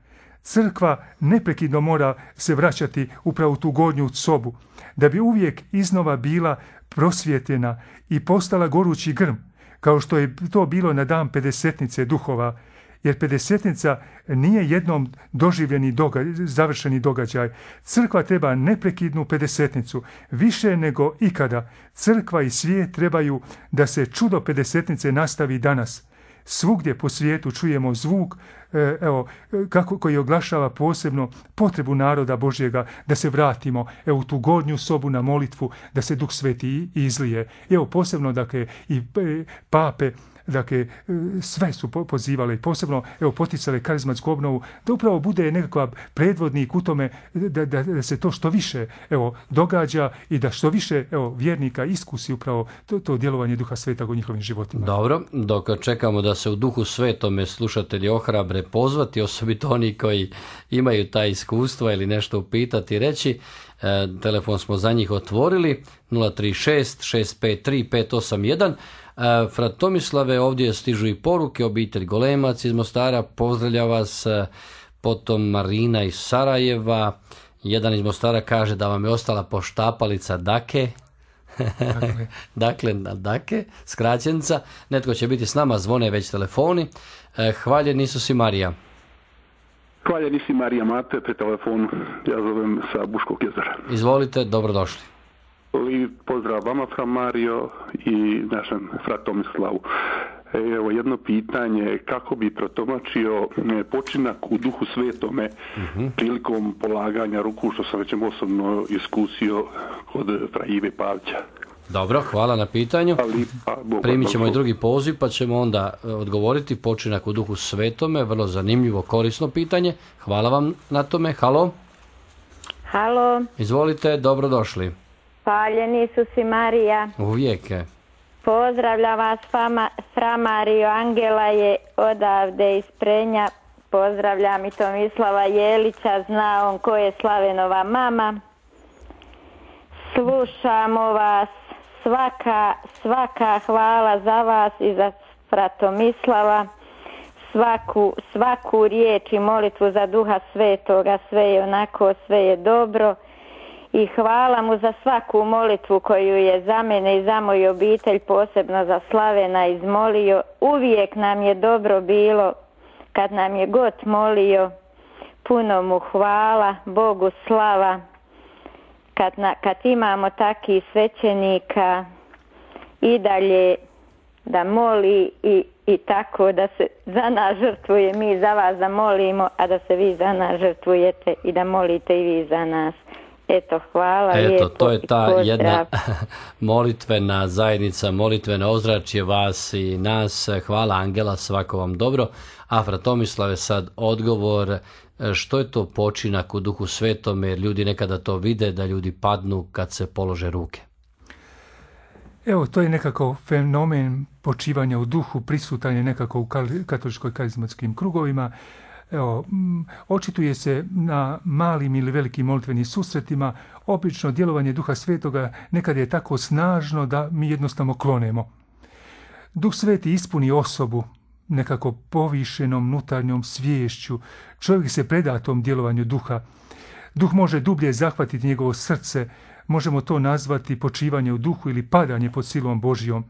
Crkva neprekidno mora se vraćati upravo u tu gornju sobu, da bi uvijek iznova bila prosvjetljena i postala gorući grm, kao što je to bilo na dan pedesetnice duhova, jer pedesetnica nije jednom doživljeni završeni događaj. Crkva treba neprekidnu pedesetnicu, više nego ikada. Crkva i svijet trebaju da se čudo pedesetnice nastavi danas. Svugdje po svijetu čujemo zvuk, koji oglašava posebno potrebu naroda Božjega da se vratimo u tu gornju sobu na molitvu, da se Duh Sveti izlije. Posebno, dakle, i pape dakle, sve su pozivale, posebno poticale karizmatsku obnovu, da upravo bude nekakav predvodnik u tome da se to što više događa i da što više vjernika iskusi upravo to djelovanje Duha Svetog u njihovim životima. Dobro, dok čekamo da se u Duhu Svetome slušatelji ohrabre pozvati, osobito oni koji imaju ta iskustva ili nešto upitati i reći, telefon smo za njih otvorili, 036 653 581. Frat Tomislave, ovdje stižu i poruke, obitelj Golemac iz Mostara pozdravlja vas, potom Marina iz Sarajeva, jedan iz Mostara kaže da vam je ostala poštapalica Dake, dakle Dake, skraćenica, netko će biti s nama, zvone već telefoni. Hvaljen Isus i Marija. Hvaljen Isus i Marija, Mate, pre telefonu, ja zovem sa Buškog jezera. Izvolite, dobrodošli. Pozdrav vama, fra Mario, i našem frat Tomislavu. Evo jedno pitanje, kako bi protumačio počinak u Duhu Svetome prilikom polaganja ruku, što sam već osobno iskusio kod fra Ive Pavića. Dobro, hvala na pitanju. Primit ćemo i drugi poziv, pa ćemo onda odgovoriti počinak u Duhu Svetome. Vrlo zanimljivo, korisno pitanje. Hvala vam na tome. Halo? Halo? Izvolite, dobrodošli. Hvaljen Isus i Marija. Uvijek. Pozdravlja vas fra Mario, Angela je odavde iz Prenja. Pozdravljam i Tomislava Jelića, zna on ko je Slavenova mama. Slušamo vas, svaka hvala za vas i za fra Tomislava. Svaku riječ i molitvu za Duha Svetoga, sve je onako, sve je dobro. I hvala mu za svaku molitvu koju je za mene i za moju obitelj, posebno za Slavena, izmolio. Uvijek nam je dobro bilo kad nam je god molio. Puno mu hvala, Bogu slava. Kad imamo takih svećenika i dalje da moli i tako da se za nas žrtvuje, mi za vas da molimo, a da se vi za nas žrtvujete i da molite i vi za nas. Eto, hvala lijepo. To je ta jedna molitvena zajednica, molitveno ozračje vas i nas. Hvala Angela, svako vam dobro. A fra Tomislave, sad odgovor, što je to počinak u Duhu Svetome, jer ljudi nekada to vide, da ljudi padnu kad se polože ruke. Evo, to je nekako fenomen počivanja u duhu, prisutan je nekako u katoličkoj karizmatskim krugovima. Evo, očituje se na malim ili velikim molitvenim susretima. Obično djelovanje Duha Svetoga nekad je tako snažno da mi jednostavno klonemo. Duh Sveti ispuni osobu nekako povišenom unutarnjom sviješću. Čovjek se preda tom djelovanju duha. Duh može dublje zahvatiti njegovo srce. Možemo to nazvati počivanje u duhu ili padanje pod silom Božjom.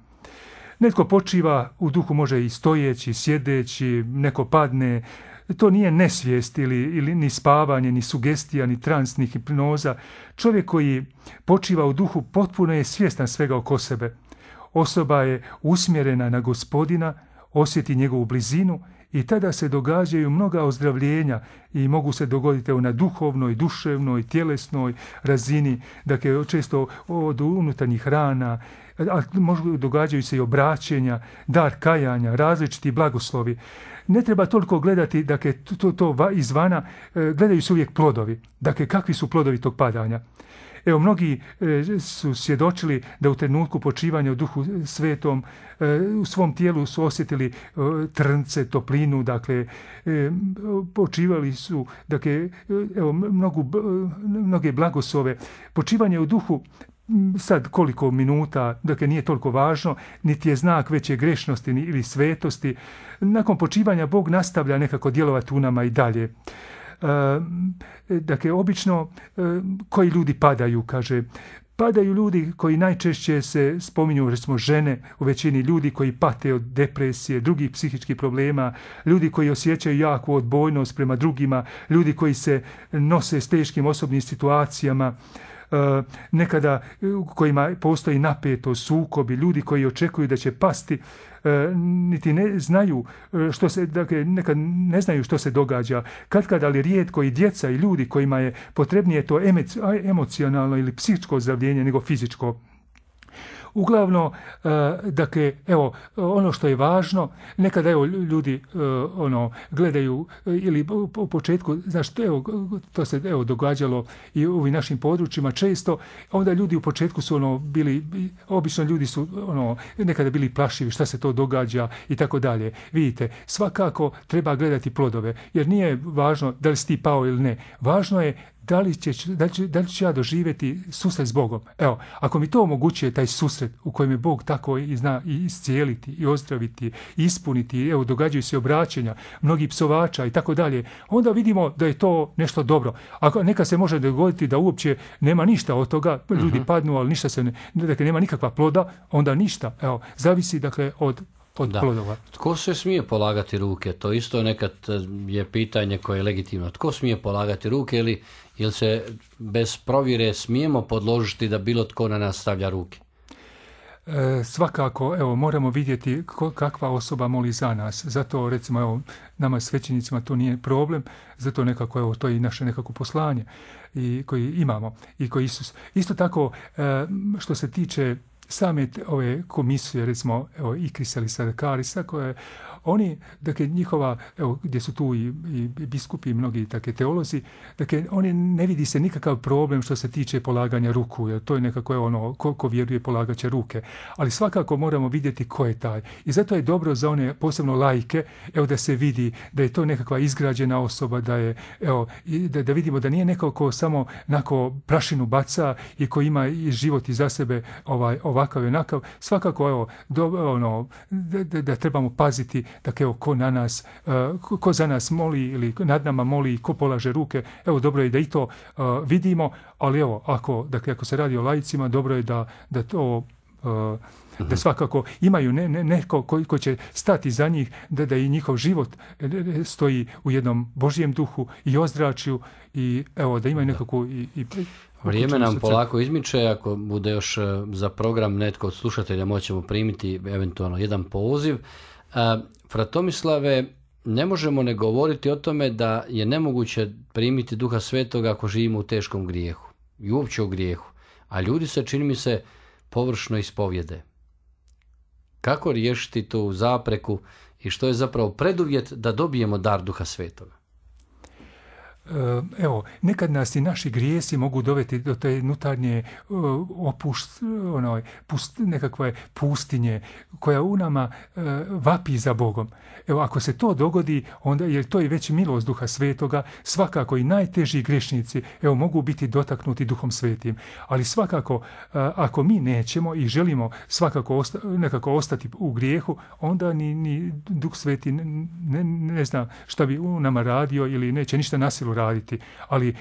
Netko počiva u duhu, može i stojeći, sjedeći, neko padne. To nije nesvijest ili ni spavanje, ni sugestija, ni trans, ni hipnoza. Čovjek koji počiva u duhu potpuno je svjestan svega oko sebe. Osoba je usmjerena na Gospodina, osjeti njegovu blizinu i tada se događaju mnoga ozdravljenja i mogu se dogoditi na duhovnoj, duševnoj, tjelesnoj razini, dakle često od unutarnjih rana, a događaju se i obraćenja, dar kajanja, različiti blagoslovi. Ne treba toliko gledati, dakle, to izvana, gledaju se uvijek plodovi. Dakle, kakvi su plodovi tog padanja? Evo, mnogi su svjedočili da u trenutku počivanja u Duhu Svetom u svom tijelu su osjetili trnce, toplinu, dakle, počivali su, dakle, evo, mnoge blagoslove. Počivanje u Duhu, sad koliko minuta, dakle nije toliko važno, niti je znak veće grešnosti ili svetosti. Nakon počivanja Bog nastavlja nekako djelovati u nama i dalje. Dakle, obično koji ljudi padaju, kaže. Padaju ljudi koji najčešće se spominju, recimo žene, u većini ljudi koji pate od depresije, drugih psihičkih problema, ljudi koji osjećaju jaku odbojnost prema drugima, ljudi koji se nose s teškim osobnim situacijama, nekada u kojima postoji napetost, sukobi, ljudi koji očekuju da će pasti, niti ne znaju što se, dakle, nekad ne znaju što se događa. Katkad, ali rijetko i djeca i ljudi kojima je potrebnije to emocionalno ili psihičko ozdravljenje nego fizičko. Uglavnom, dakle, evo, ono što je važno, nekada evo ljudi gledaju ili u početku, znaš, evo, to se evo događalo i u ovim našim područjima često, onda ljudi u početku su bili, obično ljudi su nekada bili plašivi šta se to događa i tako dalje. Vidite, svakako treba gledati plodove, jer nije važno da li si ti pao ili ne. Važno je da li ću ja doživjeti susret s Bogom. Evo, ako mi to omogućuje taj susret u kojem je Bog tako i zna i iscijeliti, i ozdraviti, i ispuniti, evo, događaju se obraćenja, mnogi psovača i tako dalje, onda vidimo da je to nešto dobro. Ako neka se može dogoditi da uopće nema ništa od toga, ljudi padnu, ali ništa se dakle, nema nikakva ploda, onda ništa. Evo, zavisi, dakle, od plodova. Tko se smije polagati ruke? To isto nekad je pitanje koje je legitimno. Tko smije polagati ruke ili se bez provjere smijemo podložiti da bilo tko na nas stavlja ruke? Svakako, evo, moramo vidjeti kakva osoba moli za nas. Zato, recimo, evo, nama svećenicima to nije problem, zato nekako, evo, to je i naše nekako poslanje i koji imamo i koji Isus. Isto tako, što se tiče same ove komisije, recimo, evo, Ikrisa ili Sadakarisa, koje oni, dakle, njihova, evo, gdje su tu i biskupi i mnogi takve teolozi, dakle, oni ne vidi se nikakav problem što se tiče polaganja ruku, jer to je nekako ono, ko vjeruje polagat će ruke. Ali svakako moramo vidjeti ko je taj. I zato je dobro za one, posebno laike, evo, da se vidi da je to nekakva izgrađena osoba, da je, evo, da vidimo da nije neko ko samo nako prašinu baca i ko ima i život iza sebe ovakav i onakav. Svakako, evo, da trebamo paziti da evo, ko za nas moli ili nad nama moli, ko polaže ruke, evo, dobro je da i to vidimo, ali evo, ako se radi o laicima, dobro je da to da svakako imaju neko ko će stati za njih, da i njihov život stoji u jednom Božjem duhu i ozračju i evo, da imaju nekako i vrijeme nam polako izmiče, ako bude još za program netko od slušatelja moćemo primiti eventualno jedan poziv. Fratomislave, ne možemo ne govoriti o tome da je nemoguće primiti Duha Svetoga ako živimo u teškom grijehu i uopće u grijehu, a ljudi se, čini mi se, površno ispovjede. Kako riješiti tu zapreku i što je zapravo preduvjet da dobijemo dar Duha Svetoga? Evo, nekad nas i naši grijesi mogu dovesti do te unutarnje nekakve pustinje koja u nama vapi za Bogom. Evo, ako se to dogodi, onda, jer to je već milost Duha Svetoga, svakako i najteži grešnici, evo, mogu biti dotaknuti Duhom Svetim. Ali svakako, ako mi nećemo i želimo svakako nekako ostati u grijehu, onda ni Duh Sveti ne zna šta bi u nama radio ili neće ništa na silu raditi. Ali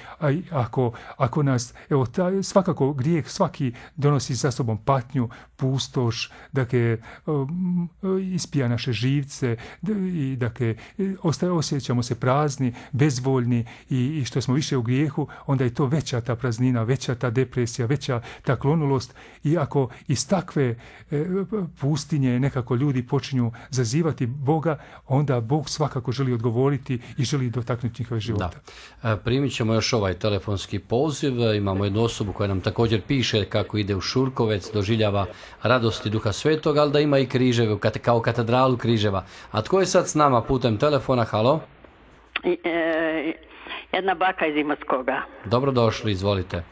ako nas, evo, svakako grijeh svaki donosi za sobom patnju, pustoš, dakle, ispija naše živce i dakle, osjećamo se prazni, bezvoljni i što smo više u grijehu, onda je to veća ta praznina, veća ta depresija, veća ta klonulost i ako iz takve pustinje nekako ljudi počinju zazivati Boga, onda Bog svakako želi odgovoriti i želi dotaknuti njihove života. Da. Primit ćemo još ovaj telefonski poziv. Imamo jednu osobu koja nam također piše kako ide u Šurkovec, doživljava radosti Duha Svetog, ali da ima i križeve, kao katedralu križeva. A tko je sad s nama putem telefona? Halo? Jedna baka iz Imotskoga. Dobrodošli, izvolite.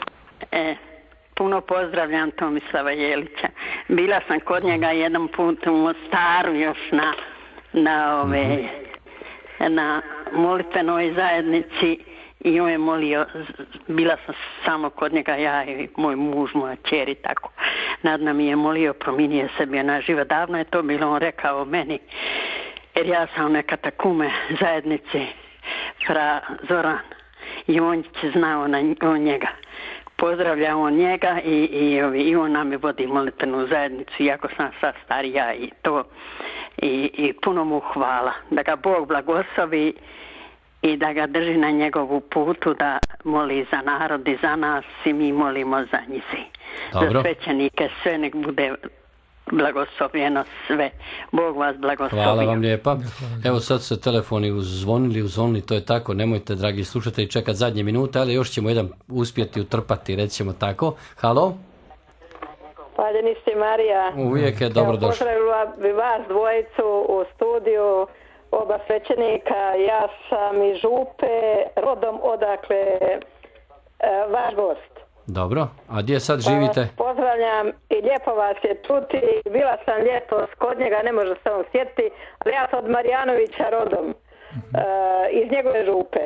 Puno pozdravljam Tomislava Jelića. Bila sam kod njega jedan put u Mostaru još na molitvenoj zajednici i on je molio, bila sam samo kod njega, ja i moj muž, moja kćer i tako. Nad nam je molio, promijenio sebi na život. Davno je to bilo, on rekao meni, jer ja sam na katakume zajednici fra Zoran i on će znao on njega. Pozdravlja on njega i on nam je vodi molitvenu zajednicu, iako sam sad starija i to. I puno mu hvala. Da ga Bog blagoslovi i da ga drži na njegovu putu, da moli za narod i za nas i mi molimo za njih. Za svećenike sve nek bude blagoslovljeno sve. Bog vas blagoslovio. Hvala vam lijepa. Evo sad se telefoni uzvonili, to je tako, nemojte, dragi slušatelji, čekati zadnje minute, ali još ćemo jedan uspjeti utrpati, recimo tako. Halo? Hvaljeni ste, Marija. Uvijek je dobro došlo. Pozdravila bi vas dvojicu u studiju, oba svećenika. Ja sam iz Župe, rodom odakle vaš gost. Dobro, a gdje sad živite? Pozdravljam i lijepo vas je čuti. Bila sam ljetos kod njega, ne može se on sjetiti, ali ja sam od Marijanovića rodom, iz njegove Župe.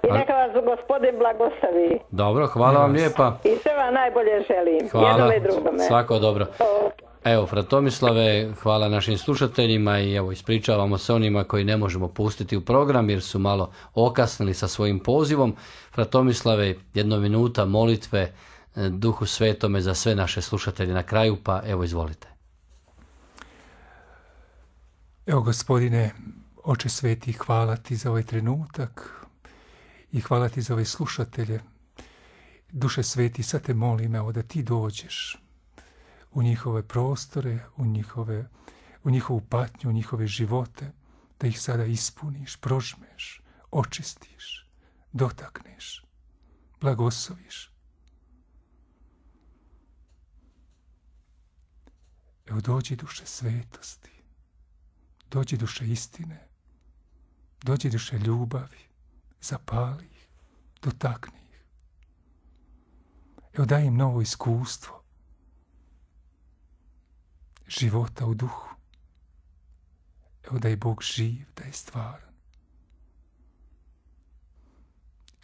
I neka vas gospodin blagoslovi. Dobro, hvala vam lijepa. I sve vam najbolje želim. Hvala, jednome drugome. svako dobro. Evo, fra Tomislave, hvala našim slušateljima i evo, ispričavamo se onima koji ne možemo pustiti u program jer su malo okasnili sa svojim pozivom. Fra Tomislave, 1 minuta molitve Duhu Svetome za sve naše slušatelje na kraju, pa evo, izvolite. Evo, Gospodine, Oče Sveti, hvala ti za ovaj trenutak i hvala ti za ove slušatelje. Duše Sveti, sad te molim, evo, da ti dođeš u njihove prostore, u njihovu patnju, u njihove živote, da ih sada ispuniš, prožmeš, očistiš, dotakneš, blagosloviš. Evo, dođi duše svetosti, dođi duše istine, dođi duše ljubavi, zapali ih, dotakni ih. Evo, daj im novo iskustvo života u duhu. Evo, da je Bog živ, da je stvaran.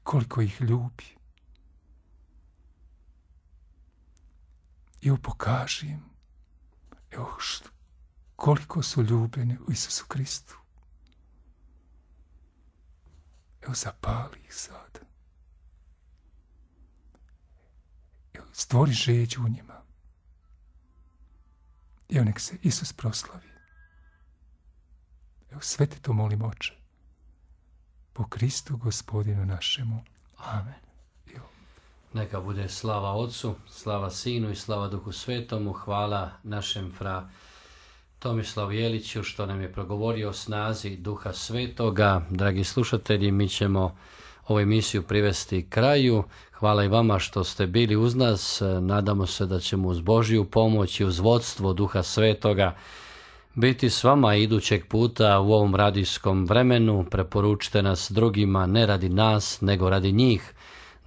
Koliko ih ljubi. Evo, pokaži im, evo, koliko su ljubljeni u Isusu Kristu. Evo, zapali ih sad. Evo, stvori žeđu u njima. Evo, nek se Isus proslavi. Evo, sve te to molim, Oče. Po Kristu Gospodinu našemu. Amen. Evo. Neka bude slava Otcu, slava Sinu i slava Duhu Svetomu. Hvala našem fra Tomislavu Jeliću što nam je progovorio o snazi Duha Svetoga. Dragi slušatelji, mi ćemo ovu emisiju privesti kraju. Hvala i vama što ste bili uz nas. Nadamo se da ćemo uz Božju pomoć i uz vodstvo Duha Svetoga biti s vama idućeg puta u ovom radijskom vremenu. Preporučite nas drugima, ne radi nas, nego radi njih,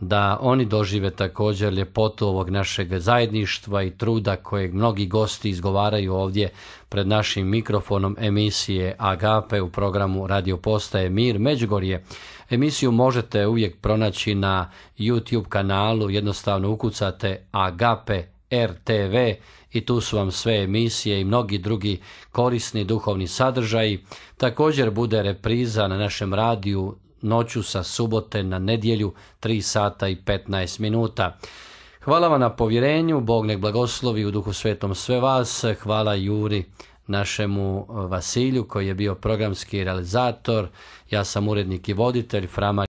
da oni dožive također ljepotu ovog našeg zajedništva i truda kojeg mnogi gosti izgovaraju ovdje pred našim mikrofonom emisije Agape u programu Radio Postaje Mir Međugorje. Emisiju možete uvijek pronaći na YouTube kanalu, jednostavno ukucate Agape RTV i tu su vam sve emisije i mnogi drugi korisni duhovni sadržaji. Također bude repriza na našem radiju noću sa subote na nedjelju 3 sata i 15 minuta. Hvala vam na povjerenju, Bog nek blagoslovi u Duhu Svetom sve vas. Hvala Juri, našemu Vasilju koji je bio programski realizator. Ja sam urednik i voditelj Frama